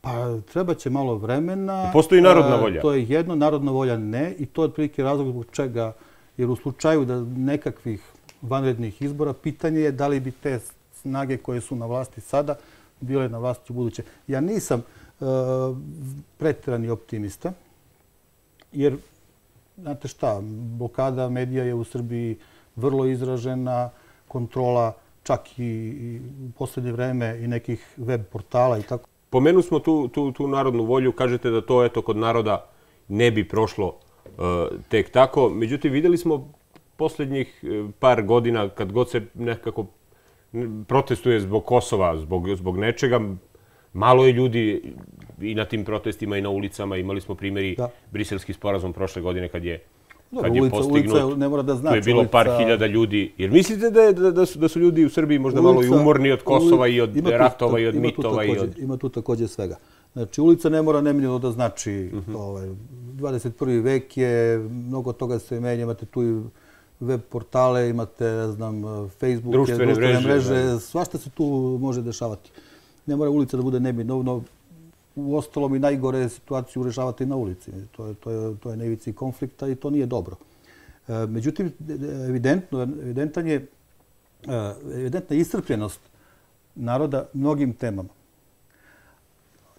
Pa treba će malo vremena. Postoji narodna volja? To je jedno, narodna volja ne. I to je otprilike razlog zbog čega, jer u slučaju da nekakvih vanrednih izbora, pitanje je da li bi te snage koje su na vlasti sada bile na vlasti u buduće. Ja nisam preterani optimista, jer, znate šta, blokada medija je u Srbiji vrlo izražena, kontrola čak i u posljednje vreme i nekih web portala i tako. Pomenu smo tu narodnu volju, kažete da to eto kod naroda ne bi prošlo tek tako. Međutim, vidjeli smo posljednjih par godina, kad god se nekako protestuje zbog Kosova, zbog nečega, malo je ljudi i na tim protestima i na ulicama. Imali smo primjeri briselski sporazum prošle godine kad je postignut. Ne mora da znači. Tu je bilo par hiljada ljudi. Jer mislite da su ljudi u Srbiji možda malo i umorni od Kosova i od ratova i od mitova? Ima tu također svega. Znači, ulica ne mora nemiljeno da znači 21. vek je, mnogo toga se menja, imate tu i web portale, imate, ne znam, Facebook, društvene mreže, svašta se tu može dešavati. Ne mora ulica da bude nemiljno. U ostalom i najgore situaciju rešavati na ulici. To je na ivici konflikta i to nije dobro. Međutim, evidentna je iscrpljenost naroda mnogim temama.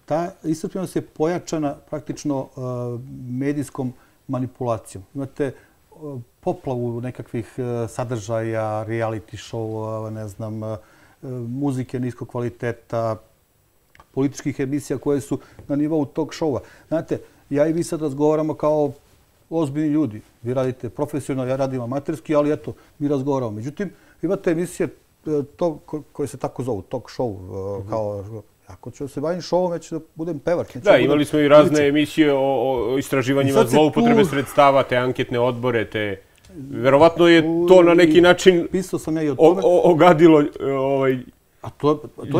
Ta iscrpljenost je pojačana praktično medijskom manipulacijom. Imate poplavu nekakvih sadržaja, reality show, ne znam, muzike niskog kvaliteta, političkih emisija koje su na nivou tog šova. Znate, ja i vi sad razgovaramo kao ozbiljni ljudi. Vi radite profesionalno, ja radim amaterski, ali eto, mi razgovaramo. Međutim, imate emisije koje se tako zovu, talk show, kao ako ću se bavim šovom, već da budem pevač. Da, imali smo i razne emisije o istraživanjima zloupotrebe sredstava, te anketne odbore, te... Verovatno je to na neki način ogadilo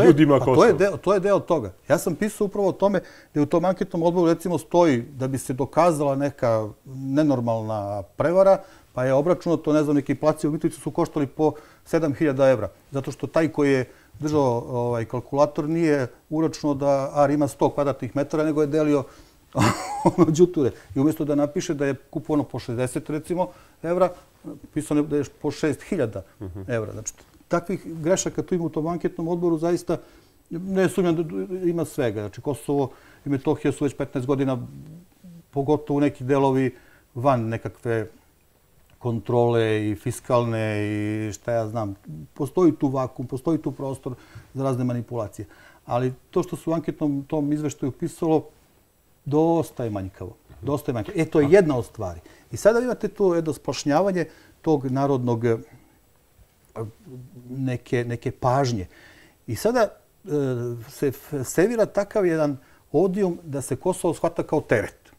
ljudima Kosova. To je deo toga. Ja sam pisao upravo o tome da u tom anketnom odboru recimo stoji da bi se dokazala neka nenormalna prevara, pa je obračunato, ne znam, neki placi u Mitrovici su koštali po 7.000 evra. Zato što taj koji je držao kalkulator nije uračunao da AR ima 100 kvadratnih metara, nego je delio đuture. I umjesto da napiše da je kupovano po 60, recimo, evra, pisano da je po 6.000 evra. Znači, takvih grešaka tu ima u tom anketnom odboru, zaista ne sumnjam da ima svega. Znači, Kosovo i Metohija su već 15 godina, pogotovo neki delovi van nekakve kontrole i fiskalne i šta ja znam. Postoji tu vakuum, postoji tu prostor za razne manipulacije. Ali to što su u anketnom tom izveštaju pisalo, dosta je manjkavo. To je jedna od stvari. I sada imate tu jedno splašnjavanje tog narodnog neke pažnje. I sada se servira takav jedan odijum da se Kosovo shvata kao teret.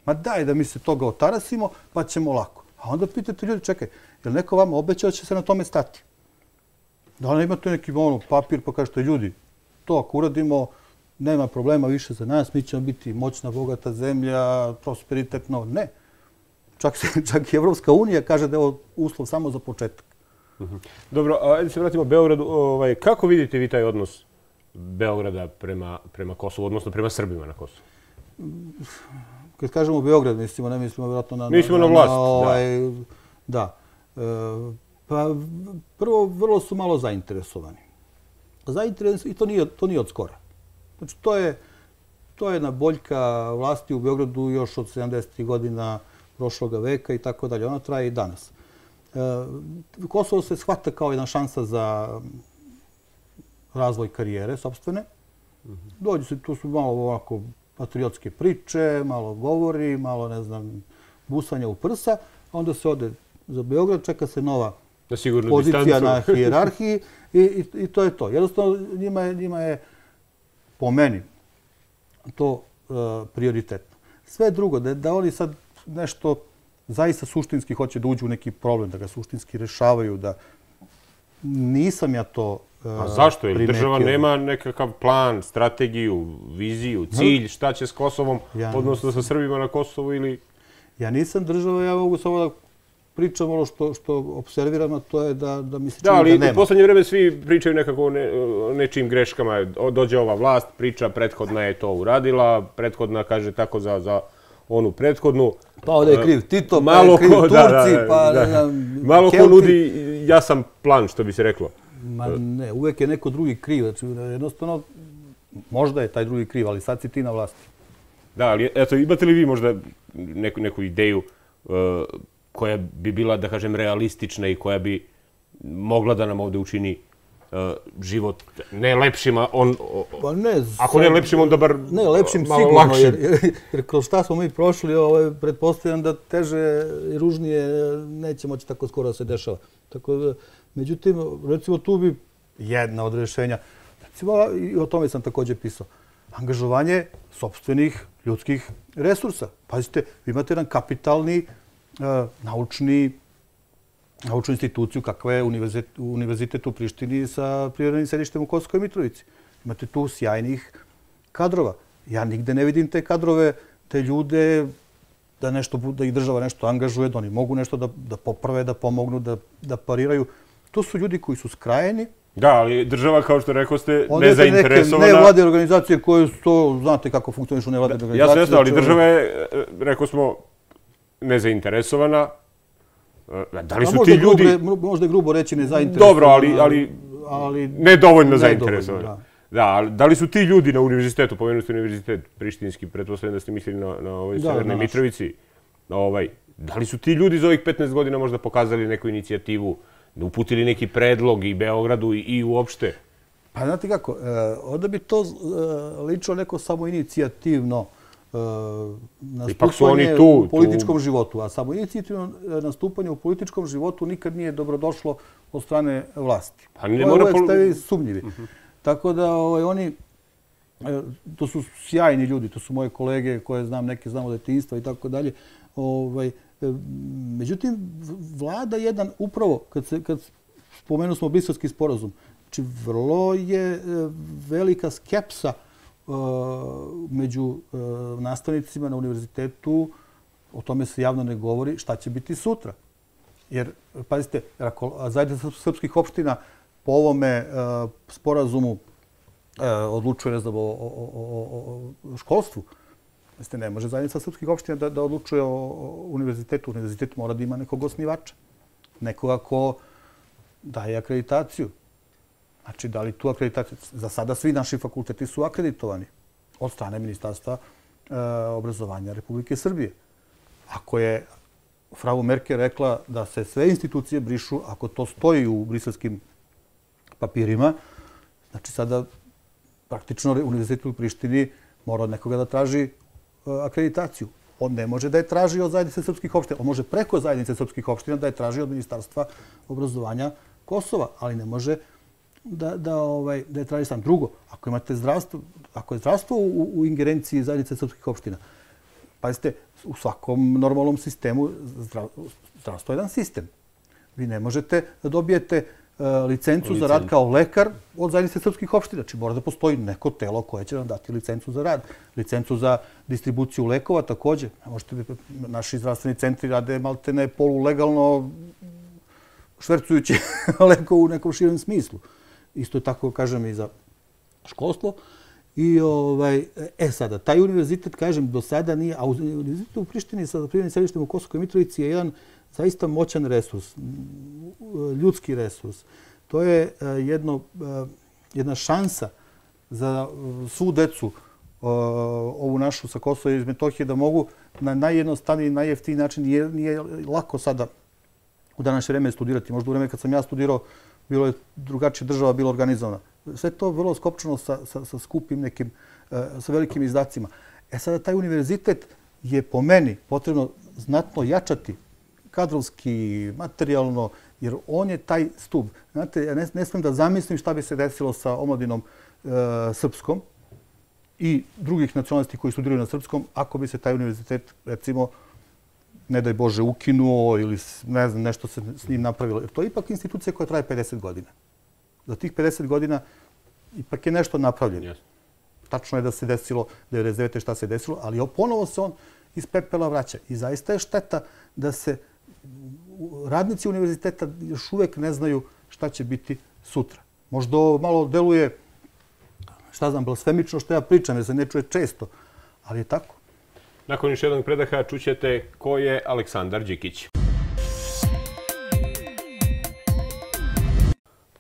Ma daj da mi se toga otarasimo, pa ćemo lako. A onda pitate ljudi, čekaj, je li neko vama obećao da će se na tome stati? Da li imate neki papir pa kažete, ljudi, to ako uradimo, nema problema više za nas, mi ćemo biti moćna, bogata zemlja, prosperitetno. Ne. Čak i Evropska unija kaže da je ovo uslov samo za početak. Dobro, ajde se vratimo Beogradu. Kako vidite vi taj odnos Beograda prema Kosovu, odnosno prema Srbima na Kosovu? Kad kažemo Beograd, ne mislimo vjerojatno na... Mislimo na vlast, da. Pa prvo, vrlo su malo zainteresovani. I to nije od skora. Znači, to je jedna boljka vlasti u Beogradu još od 70. godina prošloga veka i tako dalje. Ona traje i danas. Kosovo se shvata kao jedna šansa za razvoj karijere sopstvene. Dođu se, tu su malo ovako patriotske priče, malo govori, malo, ne znam, busanja u prsa. Onda se ode za Beograd, čeka se nova pozicija na hijerarhiji i to je to. Jednostavno, njima je po meni to prioritetno. Sve drugo, da oni sad nešto zaista suštinski hoće da uđu u neki problem, da ga suštinski rešavaju, da nisam ja to primetio. A zašto? Jer država nema nekakav plan, strategiju, viziju, cilj, šta će s Kosovom, odnosno sa Srbima na Kosovu ili... Ja nisam država, ja mogu samo da pričam ono što observiram, a to je da mi se čini da nema. Da, ali u poslednje vreme svi pričaju nekako o nečijim greškama. Dođe ova vlast, priča, prethodna je to uradila, prethodna kaže tako za onu prethodnu. Pa ovdje je kriv Tito, pa je kriv Turci, pa ne znam... Malo ko nudi jasan plan, što bi se reklo. Ma ne, uvek je neko drugi kriv. Znači, jednostavno, možda je taj drugi kriv, ali sad si ti na vlasti. Da, ali eto, imate li vi možda neku ideju koja bi bila, da kažem, realistična i koja bi mogla da nam ovdje učini život ne lepšim, ako ne lepšim, onda bar malo lakšim? Ne, lepšim sigurno, jer kroz šta smo mi prošli, pretpostavljam da teže i ružnije neće moći tako skoro da se dešava. Međutim, recimo tu bi jedna od rešenja, recimo i o tome sam također pisao, angažovanje sopstvenih ljudskih resursa. Pazite, vi imate jedan kapitalni naučnu instituciju kakva je univerzitet u Prištini sa privremenim sedištem u Kosovskoj Mitrovici. Imate tu sjajnih kadrova. Ja nigde ne vidim te kadrove, te ljude, da ih država nešto angažuje, da oni mogu nešto da poprave, da pomognu, da pariraju. To su ljudi koji su skrajeni. Da, ali država, kao što rekao ste, nezainteresovana. Nevladine organizacije koje su to, znate kako funkcionišu nevladine organizacije. Jasno, ali država je, rekao smo, nezainteresovana. Da li su ti ljudi... Možda je grubo reći nezainteresovana. Dobro, ali nedovoljno zainteresovana. Da li su ti ljudi na univerzitetu, pomenuli ste univerzitet prištinski, pretpostavljam da ste mislili na ovoj Severnoj Mitrovici, da li su ti ljudi za ovih 15 godina možda pokazali neku inicijativu, uputili neki predlog i Beogradu i uopšte? Pa znate kako, onda bi to ličilo neko samoinicijativno nastupanje u političkom životu. A samoinicijativno nastupanje u političkom životu nikad nije dobrodošlo od strane vlasti. Uvijek ste sumnjivi. Tako da oni, to su sjajni ljudi, to su moje kolege koje znam, neke znam od detinjstva i tako dalje. Međutim, vlada jedan, upravo, kad spomenu smo Briselski sporazum, znači vrlo je velika skepsa među nastavnicima na univerzitetu, o tome se javno ne govori, šta će biti sutra. Jer, pazite, zajednica srpskih opština po ovome sporazumu odlučuje, ne znam, o školstvu. Ne može zajednica srpskih opština da odlučuje o univerzitetu. Univerzitet mora da ima nekog osnivača. Nekoga ko daje akreditaciju. Znači, da li tu akreditaciju? Za sada svi naši fakulteti su akreditovani od strane Ministarstva obrazovanja Republike Srbije. Ako je frau Merkel rekla da se sve institucije brišu, ako to stoji u briselskim papirima, znači sada praktično univerzitet u Prištini mora od nekoga da traži akreditaciju. On ne može da je traži od zajednice srpskih opština. On može preko zajednice srpskih opština da je traži od Ministarstva obrazovanja Kosova, ali ne može da je traži sam. Drugo, ako imate zdravstvo, ako je zdravstvo u ingerenciji zajednice srpskih opština, pazite, u svakom normalnom sistemu zdravstvo je jedan sistem. Vi ne možete da dobijete licencu za rad kao lekar od zajednice srpskih opština. Znači mora da postoji neko telo koje će vam dati licencu za rad. Licencu za distribuciju lekova također. Naši zdravstveni centri rade maltene polulegalno švercujući lekov u nekom širem smislu. Isto je tako, kažem, i za školstvo. I sada, taj univerzitet, kažem, do sada nije, a univerzitet u Prištini sa privremenim sedištem u Kosovskoj Mitrovici je jedan zaista moćan resurs, ljudski resurs. To je jedna šansa za svu decu ovu našu sa Kosova i Metohije da mogu na najjednostavniji, najjeftiniji način. Nije lako sada u današnje vreme studirati. Možda u vreme kad sam ja studirao bilo je drugačija država bila organizovana. Sve to vrlo skopčano sa skupim nekim, sa velikim izdacima. Sada taj univerzitet je po meni potrebno znatno jačati kadrovski, materijalno, jer on je taj stub. Znate, ja ne smijem da zamislim šta bi se desilo sa omladinom srpskom i drugih nacionalnosti koji studiraju na srpskom, ako bi se taj univerzitet, recimo, ne daj Bože, ukinuo ili ne znam, nešto se s njim napravilo. Jer to je ipak institucija koja traje 50 godina. Za tih 50 godina ipak je nešto napravljeno. Tačno je da se desilo 99. šta se desilo, ali ponovo se on iz pepela vraća. I zaista je šteta da se radnici univerziteta još uvek ne znaju šta će biti sutra. Možda malo deluje, šta znam, blasfemično što ja pričam, jer se ne čuje često, ali je tako. Nakon još jednog predaha čućete ko je Aleksandar Đikić.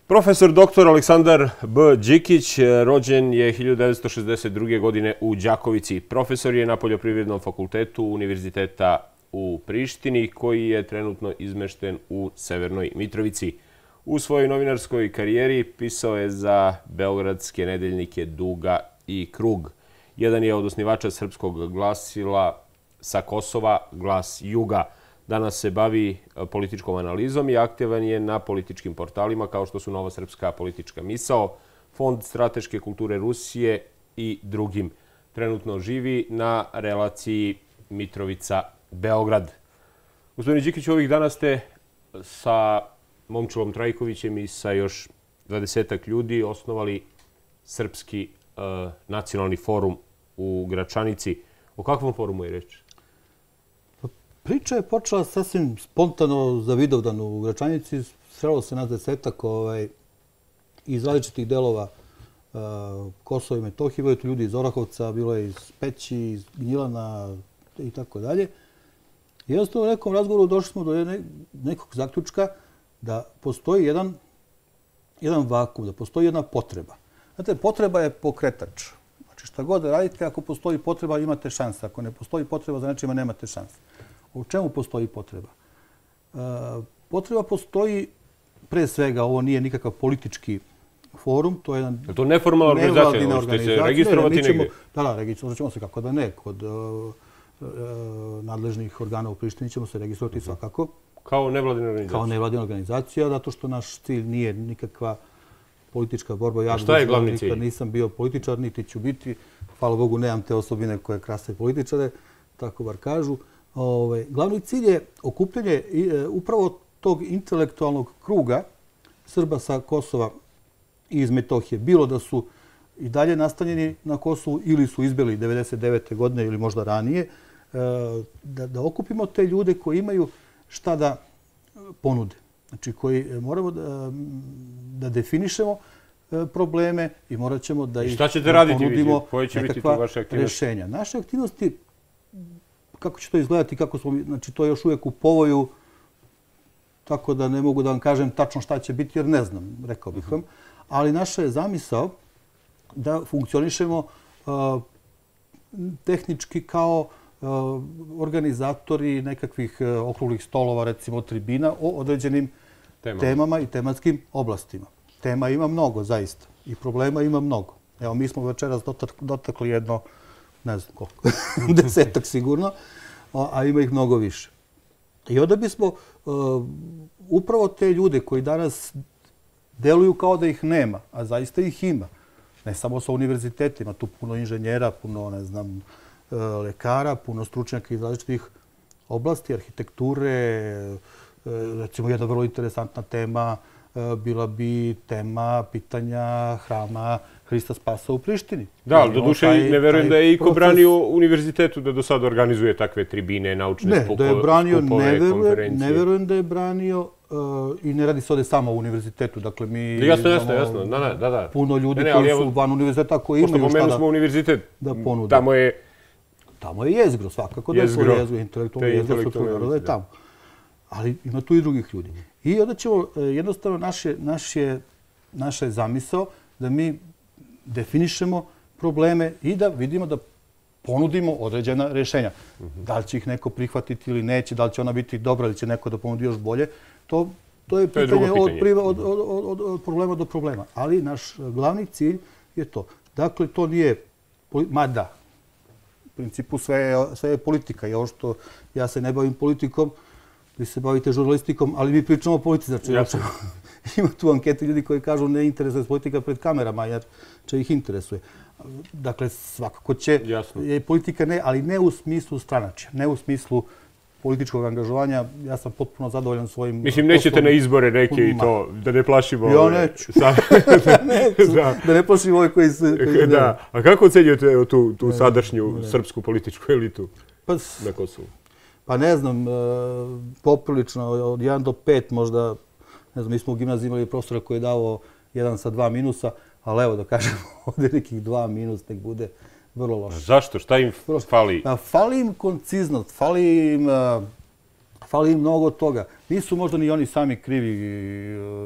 Profesor dr. Aleksandar B. Đikić rođen je 1962. godine u Đakovici. Profesor je na Poljoprivrednom fakultetu Univerziteta u Prištini, koji je trenutno izmešten u Severnoj Mitrovici. U svojoj novinarskoj karijeri pisao je za beogradske nedeljnike Duga i Krug. Jedan je od osnivača srpskog glasila sa Kosova, Glas Juga. Danas se bavi političkom analizom i aktivan je na političkim portalima kao što su Nova srpska politička misao, Fond strateške kulture Rusije i drugim. Trenutno živi na relaciji Mitrovica-Beograd. Gospodine Đikić, ovih dana ste sa Momčilom Trajkovićem i sa još 20-ak ljudi osnovali Srpski nacionalni forum u Gračanici. O kakvom forumu je reč? Priča je počela sasvim spontano za Vidovdan u Gračanici. Srelo se nas 10-ak iz različitih delova Kosova i Metohije. Bilo je tu ljudi iz Orahovca, bilo je iz Peći, iz Gnjilana i tako dalje. I jednostavno u nekom razgovoru došli smo do nekog zaključka da postoji jedan vakum, da postoji jedna potreba. Znate, potreba je pokretač. Znači, šta god da radite, ako postoji potreba, imate šanse. Ako ne postoji potreba, za nečima nemate šanse. U čemu postoji potreba? Potreba postoji, pre svega, ovo nije nikakav politički forum, to je jedan... Je to neformalna organizacija? Možete se registrovati negdje? Da, registrovati ćemo se kako da ne. Kod nadležnih organa u Prištini ćemo se registrovati svakako. Kao nevladina organizacija? Kao nevladina organizacija, zato što naš cilj nije nikakva politička borba. A šta je glavni cilj? Nisam bio političar, niti ću biti. Hvala Bogu, nemam te osobine koje krase političare, tako bar kažu. Glavni cilj je okupljanje upravo tog intelektualnog kruga Srba sa Kosova i iz Metohije. Bilo da su i dalje nastanjeni na Kosovu ili su izbjeli 1999. godine ili možda ranije, da okupimo te ljude koji imaju šta da ponude. Znači, koji moramo da definišemo probleme i morat ćemo da ih ponudimo nekakva rješenja. Naše aktivnosti, kako će to izgledati, znači to je još uvijek u povoju, tako da ne mogu da vam kažem tačno šta će biti, jer ne znam, rekao bih vam. Ali naša je zamisao da funkcionišemo tehnički kao organizatori nekakvih okruglih stolova, recimo tribina, o određenim temama i tematskim oblastima. Tema ima mnogo, zaista. I problema ima mnogo. Evo, mi smo večeras dotakli jedno, ne znam koliko, 10-ak sigurno, a ima ih mnogo više. I onda bismo upravo te ljude koji danas deluju kao da ih nema, a zaista ih ima. Ne samo sa univerzitetima, tu puno inženjera, puno, ne znam, lekara, puno stručnjaka iz različitih oblasti, arhitekture. Recimo, jedna vrlo interesantna tema bila bi tema pitanja hrama Hrista Spasa u Prištini. Da, ali do duše ne verujem da je iko branio univerzitetu da do sada organizuje takve tribine, naučne skupove, konferencije. Ne verujem da je branio i ne radi se ovdje samo o univerzitetu. Dakle, mi imamo puno ljudi koji su van univerziteta koji imaju šta da ponude. Tamo je jezgro, svakako da je to jezgro, intelektualno jezgro srpskog naroda je tamo. Ali ima tu i drugih ljudi. I onda ćemo, jednostavno, naša je zamisao da mi definišemo probleme i da vidimo da ponudimo određena rješenja. Da li će ih neko prihvatiti ili neće, da li će ona biti dobra ili će neko da ponudi još bolje, to je pitanje od problema do problema. Ali naš glavni cilj je to. Dakle, to nije, mada, u principu sve je politika. I ovo što ja se ne bavim politikom, vi se bavite žurnalistikom, ali mi pričamo o politici. Znači, ima tu ankete ljudi koji kažu ne interesuje politika pred kamerama, jer će ih interesuje. Dakle, svakako će politika, ali ne u smislu stranačja, ne u smislu političkog angažovanja. Ja sam potpuno zadovoljan svojim... Mislim, nećete na izbore neke i to, da ne plašimo... Ja neću. Da ne plašimo ove koji se... A kako ocenjujete tu sadašnju srpsku političku elitu na Kosovu? Pa ne znam, poprilično, od 1 do 5 možda, ne znam, mi smo u gimnaziji imali profesora koji je dao 1 sa 2 minusa, ali evo da kažemo ovdje nekih 2 minus, nek bude vrlo loše. Zašto? Šta im fali? Fali im konciznost, fali im mnogo toga. Nisu možda ni oni sami krivi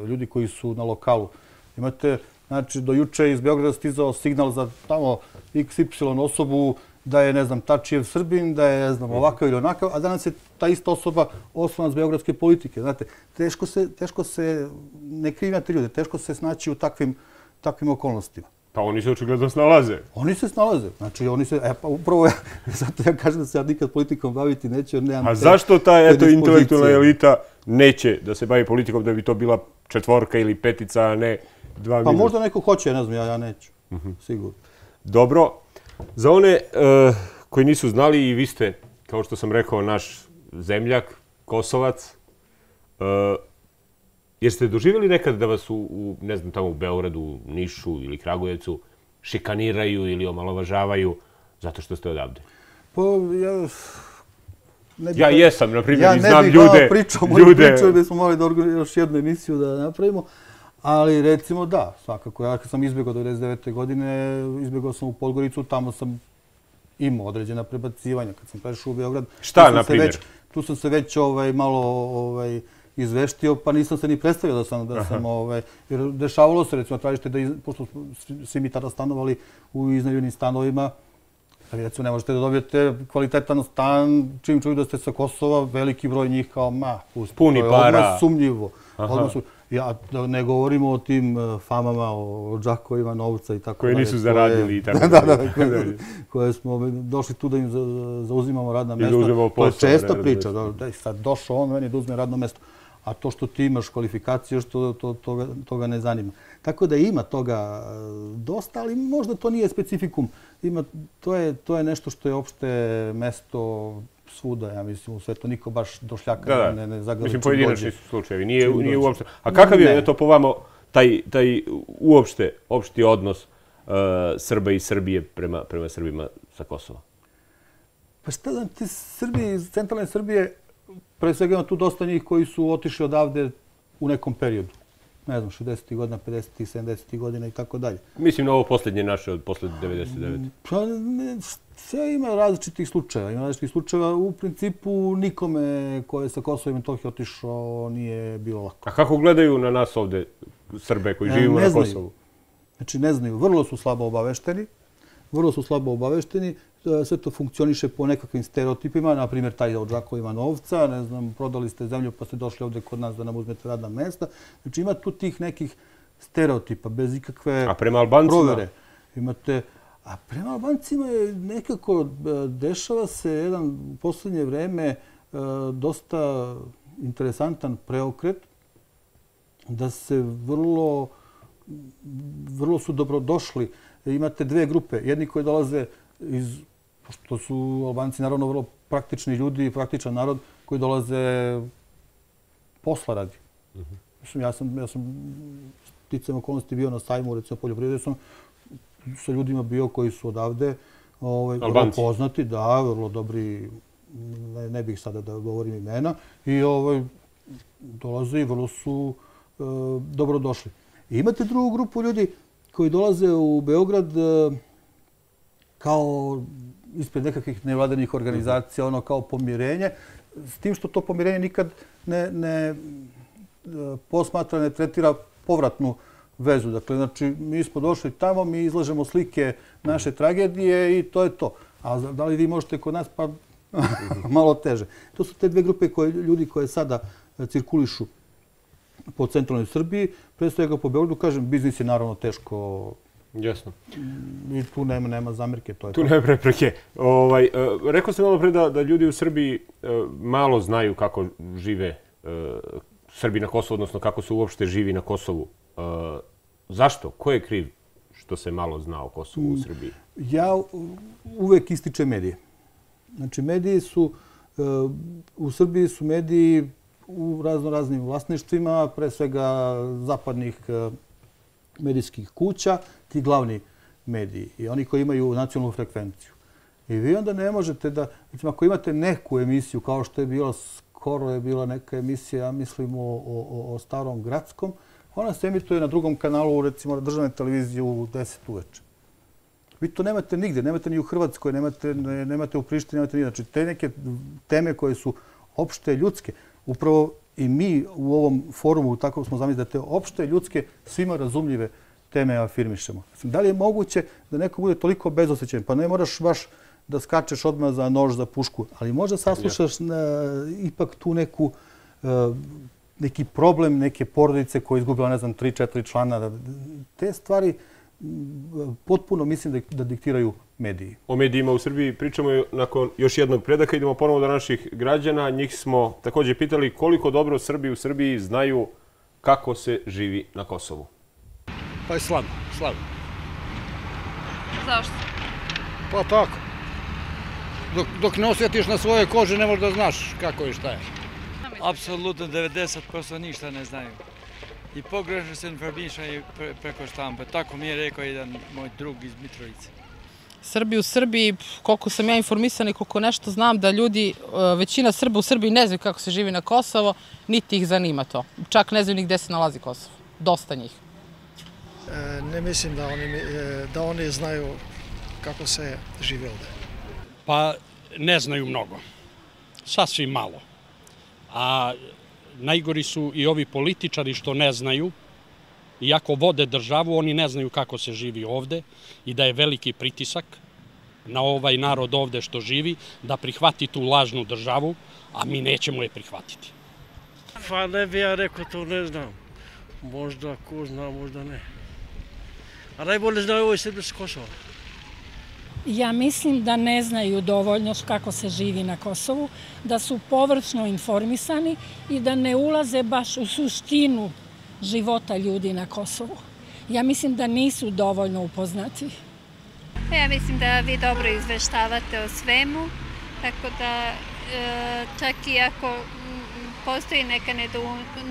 ljudi koji su na lokalu. Imate, znači, do juče iz Beograda stizao signal za tamo XY osobu da je, ne znam, Tačijev Srbin, da je, ne znam, ovakav ili onakav, a danas je ta ista osoba oslonac beogradske politike. Znate, teško se, ne krivljate ljude, teško se snaći u takvim okolnostima. Pa oni se očigledno snalaze. Oni se snalaze. Znači, pa upravo zato ja kažem da se ja nikad politikom baviti neću, jer nemam... A zašto ta, intelektualna elita neće da se bavi politikom, da bi to bila 4 ili 5, a ne 2 minuta? Pa možda neko hoće, ne znam, ja neću. Sigurno. Dobro. Za one koji nisu znali, i vi ste, kao što sam rekao, naš zemljak, Kosovac, jeste doživjeli nekad da vas ne znam, tamo u Beogradu, Nišu ili Kragujevcu šikaniraju ili omalovažavaju zato što ste odavde? Pa ja jesam, na primjer, i znam ljude. Ja ne bih pričao moju priču, jer bismo morali da još jednu emisiju da napravimo. Ali recimo da, svakako. Ja kad sam izbjegao 1999. godine, izbjegao sam u Podgoricu, tamo sam imao određena prebacivanja. Kad sam prešao u Beograd... Šta, na primjer? Tu sam se već malo izveštio, pa nisam se ni predstavio da sam jer dešavalo se, recimo, tražite da, pošto svi mi tada stanovali u iznajmljenim stanovima, recimo, ne možete da dobijete kvalitetan stan, čim čuju da ste sa Kosova, veliki broj njih kao, puni para. Odmah sumnjivo. Ja ne govorimo o tim famama, o džakovima novca i tako koje nisu zaradili i tako dalje. Koje smo došli tu da im zauzimamo radna mjesta. To je česta priča. Sad došao on, meni da uzme radno mjesto. A to što ti imaš kvalifikacije, toga ne zanima. Tako da ima toga dosta, ali možda to nije specifikum. To je nešto što je opšte mesto svuda, ja mislim, u svetu. Niko baš došljaka ne zagrliči. Mislim, pojedinačni su slučajevi. Nije uopšte. A kakav je to po vama taj opšti odnos Srba i Srbije prema Srbima sa Kosova? Pa šta znam, ti Srbi iz centralne Srbije, pre svega ima tu dosta njih koji su otišli odavde u nekom periodu. Ne znam, 60. godina, 50. 70. godina i tako dalje. Mislim na ovo posljednje naše od posle 99. Pa sve ima različitih slučajeva. U principu nikome ko je sa Kosova i Metohije otišao nije bilo lako. A kako gledaju na nas ovde Srbe koji živimo na Kosovu? Znači ne znaju, vrlo su slabo obavešteni. Sve to funkcioniše po nekakvim stereotipima, na primjer taj od džakovima novca, ne znam, prodali ste zemlju pa ste došli ovdje kod nas da nam uzmete radna mjesta. Znači ima tu tih nekih stereotipa bez ikakve provere. A prema Albancima? A prema Albancima je nekako, dešava se jedan u posljednje vreme dosta interesantan preokret, da se vrlo su dobrodošli. Imate dve grupe, jedni koji dolaze što su Albanci naravno vrlo praktični ljudi i praktičan narod koji dolaze posla radi. Ja sam sticajem okolnosti bio na sajmu, recimo poljoprivrede, sam sa ljudima bio koji su odavde vrlo poznati, da, vrlo dobri, ne bih sada da govorim imena, i dolaze i vrlo su dobrodošli. Imate drugu grupu ljudi koji dolaze u Beograd kao ispred nekakvih nevladanih organizacija, kao pomirenje, s tim što to pomirenje nikad ne posmatra, ne tretira povratnu vezu. Dakle, znači, mi smo došli tamo, mi izlažemo slike naše tragedije i to je to. A da li vi možete kod nas, pa malo teže. To su te dve grupe ljudi koje sada cirkulišu po centralnoj Srbiji. Pre svega po Beogradu, kažem, biznis je naravno teško. Jasno. I tu nema zamerke. Tu nema prepreke. Rekao sam malo pre da ljudi u Srbiji malo znaju kako žive Srbi na Kosovu, odnosno kako se uopšte živi na Kosovu. Zašto? Ko je kriv što se malo zna o Kosovu u Srbiji? Ja uvek ističem medije. Znači, mediji su, u Srbiji su mediji u raznim vlasništvima, pre svega zapadnih medijskih kuća, ti glavni mediji i oni koji imaju nacionalnu frekvenciju. I vi onda ne možete da, recimo, ako imate neku emisiju, kao što je bila, skoro je bila neka emisija, ja mislim, o Starom Gradskom, ona se emituje na drugom kanalu, recimo, državne televizije u 10 uveče. Vi to nemate nigde, nemate ni u Hrvatskoj, nemate u Prištini, nemate ni. Znači, te neke teme koje su opšte ljudske, upravo i mi u ovom forumu tako smo zamislili da te opšte ljudske, svima razumljive teme afirmišemo. Da li je moguće da neko bude toliko bezosjećajan? Pa ne moraš baš da skačeš odmah za nož, za pušku, ali možda saslušaš ipak tu neki problem, neke porodice koje izgubila, ne znam, 3-4 člana. Te stvari potpuno mislim da diktiraju mediji. O medijima u Srbiji pričamo nakon još jednog predaka. Idemo ponovo do naših građana. Njih smo također pitali koliko dobro Srbi u Srbiji znaju kako se živi na Kosovu. Pa je slabo. Zašto? Pa tako. Dok ne osjetiš na svojoj koži ne možeš da znaš kako i šta je. Apsolutno 90% ništa ne znaju. I pogrešno se informišaju preko štampe. Tako mi je rekao jedan moj drug iz Mitrovice. Srbi u Srbiji, koliko sam ja informisana i koliko nešto znam da ljudi, većina Srba u Srbiji ne znaju kako se živi na Kosovo, niti ih zanima to. Čak ne znaju ni gde se nalazi Kosovo. Dosta njih. Ne mislim da oni znaju kako se živi ovde. Pa ne znaju mnogo. Sasvim malo. A najgori su i ovi političari što ne znaju, iako vode državu, oni ne znaju kako se živi ovde i da je veliki pritisak na ovaj narod ovde što živi, da prihvati tu lažnu državu, a mi nećemo je prihvatiti. Pa ne bi ja rekao, to ne znam. Možda ko zna, možda ne. A najbolje znaju ovoj Srbi s Kosova. Ja mislim da ne znaju dovoljno kako se živi na Kosovu, da su površno informisani i da ne ulaze baš u suštinu života ljudi na Kosovu. Ja mislim da nisu dovoljno upoznati. Ja mislim da vi dobro izveštavate o svemu, tako da čak i ako postoji neka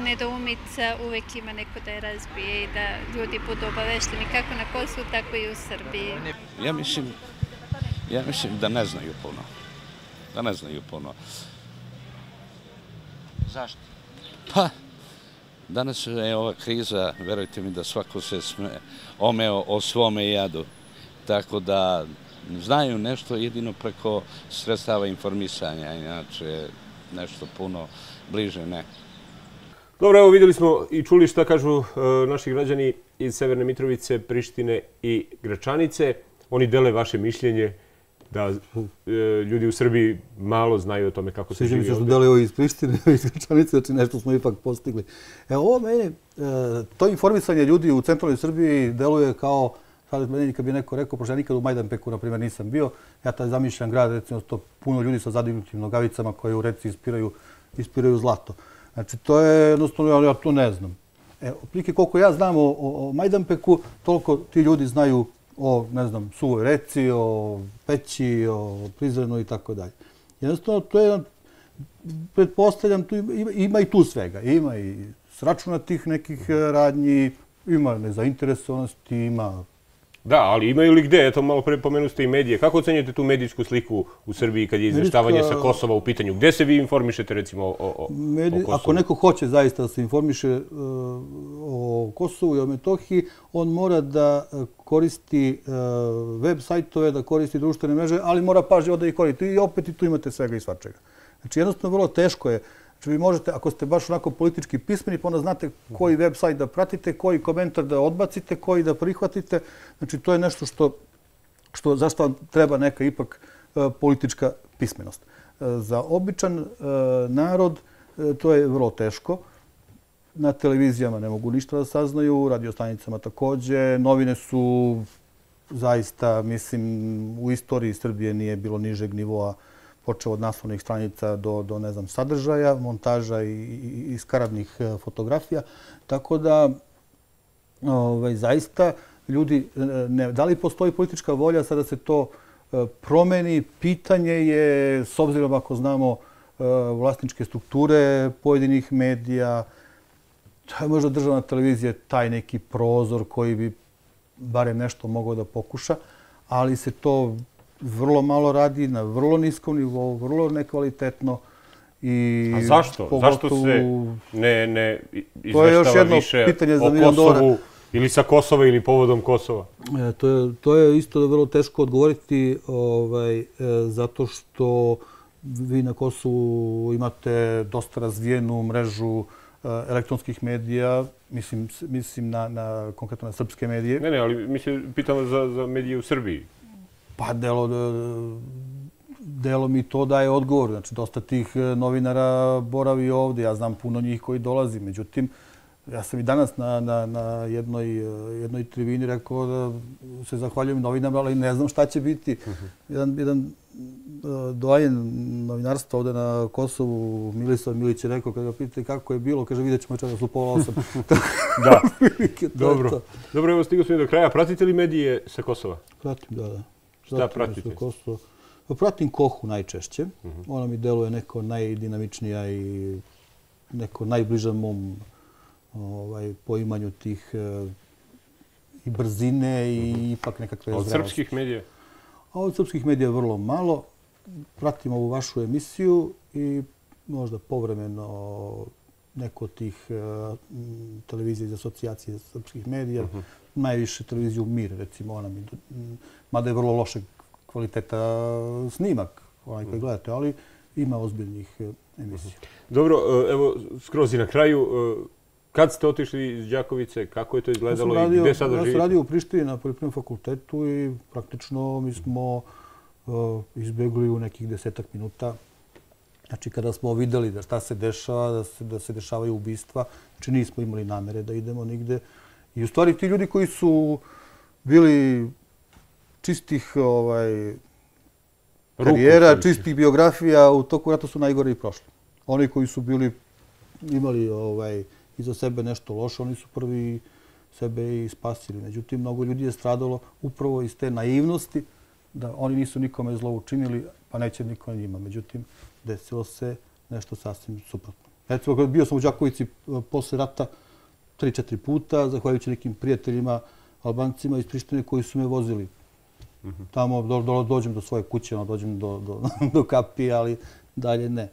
nedoumica, uvek ima neko da je razbije i da ljudi budu obavešteni kako na Kosovu, tako i u Srbiji. Ja mislim da ne znaju puno. Da ne znaju puno. Zašto? Pa, danas je ova kriza, verujte mi da svako se omeo o svome jadu. Tako da znaju nešto jedino preko sredstava informisanja, inače nešto puno bliže ne. Dobro, evo vidjeli smo i čuli šta kažu naši građani iz Severne Mitrovice, Prištine i Gračanice. Oni dele vaše mišljenje da ljudi u Srbiji malo znaju o tome kako se živi ovdje. Sviđa mi se što dele ovo iz Prištine, iz Gračanice, znači nešto smo ipak postigli. Ovo meni, to informisanje ljudi u centralnoj Srbiji deluje kao, sad meni kad bi neko rekao, pošto ja nikad u Majdanpeku, na primjer, nisam bio, ja taj zamišljam grad, recimo, to puno ljudi sa zadignutim nogavicama koji u reci ispiraju zlato. Znači, to je jednostavno, ja to ne znam. Otprilike koliko ja znam o Majdanpeku, toliko ti ljudi znaju o, ne znam, Suvoj reci, o Peći, o Prizrenu i tako dalje. Jednostavno, to je, pretpostavljam, ima i tu svega. Ima i sračunatih nekih radnji, ima nezainteresovanosti, ima... Da, ali imaju li gde? Eto, malo pre pomenu ste i medije. Kako ocenjujete tu medijsku sliku u Srbiji kad je izveštavanje sa Kosova u pitanju? Gde se vi informišete, recimo, o Kosovu? Ako neko hoće zaista da se informiše o Kosovu i o Metohiji, on mora da koristi web sajtove, da koristi društvene mreže, ali mora pažljivo da ih koristi. I opet i tu imate svega i svačega. Znači, jednostavno, vrlo teško je. Znači, vi možete, ako ste baš onako politički pismeni, pa onda znate koji web sajt da pratite, koji komentar da odbacite, koji da prihvatite. Znači, to je nešto zašto vam treba neka ipak politička pismenost. Za običan narod to je vrlo teško. Na televizijama ne mogu ništa da saznaju, radiostanicama takođe. Novine su zaista, mislim, u istoriji Srbije nije bilo nižeg nivoa, počeo od naslovnih stranica do ne znam, sadržaja, montaža i skaradnih fotografija. Tako da, zaista, ljudi, da li postoji politička volja sada se to promeni? Pitanje je, s obzirom ako znamo vlasničke strukture pojedinih medija, to je možda državna televizija taj neki prozor koji bi barem nešto mogao da pokuša, ali se to vrlo malo radi, na vrlo niskom nivou, vrlo nekvalitetno. A zašto? Zašto se ne izveštava više o Kosovu ili sa Kosova ili povodom Kosova? To je isto vrlo teško odgovoriti zato što vi na Kosovu imate dosta razvijenu mrežu elektronskih medija, mislim konkretno na srpske medije. Ne, ali pitam za medije u Srbiji. Pa delo mi to daje odgovor. Znači, dosta tih novinara boravi ovdje. Ja znam puno njih koji dolazi. Međutim, ja sam i danas na jednoj tribini rekao da se zahvaljujem novinama, ali ne znam šta će biti. Jedan doajen novinarstva ovde na Kosovu, Milisav Milić je rekao, kada ga pitate kako je bilo, kaže vidjet ćemo večeras u 7:30. Da, dobro. Dobro, evo stigao smo i do kraja. Pratite li medije sa Kosova? Pratim, da. Šta pratite? Pratim Kohu najčešće. Ona mi deluje neko najdinamičnija i neko najbliža mom poimanju tih i brzine i ipak nekakve zrelosti. Od srpskih medija? A od srpskih medija vrlo malo. Pratim ovu vašu emisiju i možda povremeno neko od tih televizija iz asocijacije srpskih medija. Najviše televiziju Mir, recimo, ona mi, mada je vrlo lošeg kvaliteta snimak, onaj koji gledate, ali ima ozbiljnih emisija. Dobro, evo, skroz i na kraju, kad ste otišli iz Đakovice, kako je to izgledalo i gde sada živite? Ja sam radio u Prištini na Poljoprivrednom fakultetu i praktično mi smo izbjegli u nekih 10 minuta. Znači, kada smo videli da šta se dešava, da se dešavaju ubistva, znači nismo imali namere da idemo nigde. I u stvari ti ljudi koji su bili čistih karijera, čistih biografija, u toku rata su najgore i prošli. Oni koji su imali iza sebe nešto loše, oni su prvi sebe i spasili. Međutim, mnogo ljudi je stradalo upravo iz te naivnosti da oni nisu nikome zlo učinili, pa neće niko njima. Međutim, desilo se nešto sasvim suprotno. Recimo, bio sam u Đakovici posle rata 3-4 puta, zahvaljujući nekim prijateljima, Albancima iz Prištine koji su me vozili. Tamo dođem do svoje kuće, dođem do kapije, ali dalje ne.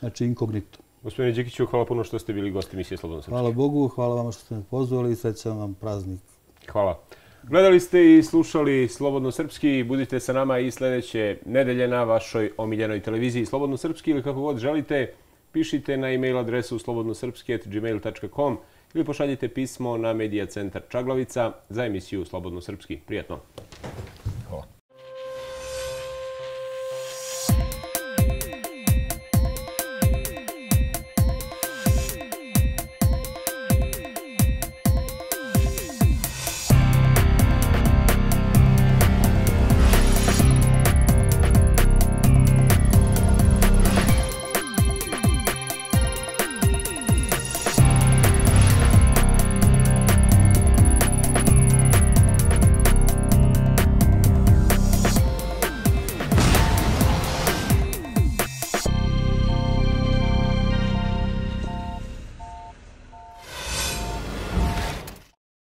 Znači, inkognito. Gospodine Đikiću, hvala puno što ste bili gosti emisije Slobodno srpski. Hvala Bogu, hvala vama što ste me pozvali i srećan vam praznik. Hvala. Gledali ste i slušali Slobodno srpski. Budite sa nama i sljedeće nedelje na vašoj omiljenoj televiziji Slobodno srpski ili kako god želite. Pišite na e-mail adresu slobodnosrpski@gmail.com ili pošaljite pismo na Medija centar Čaglavica za emisiju Slobodno srpski. Prijatno.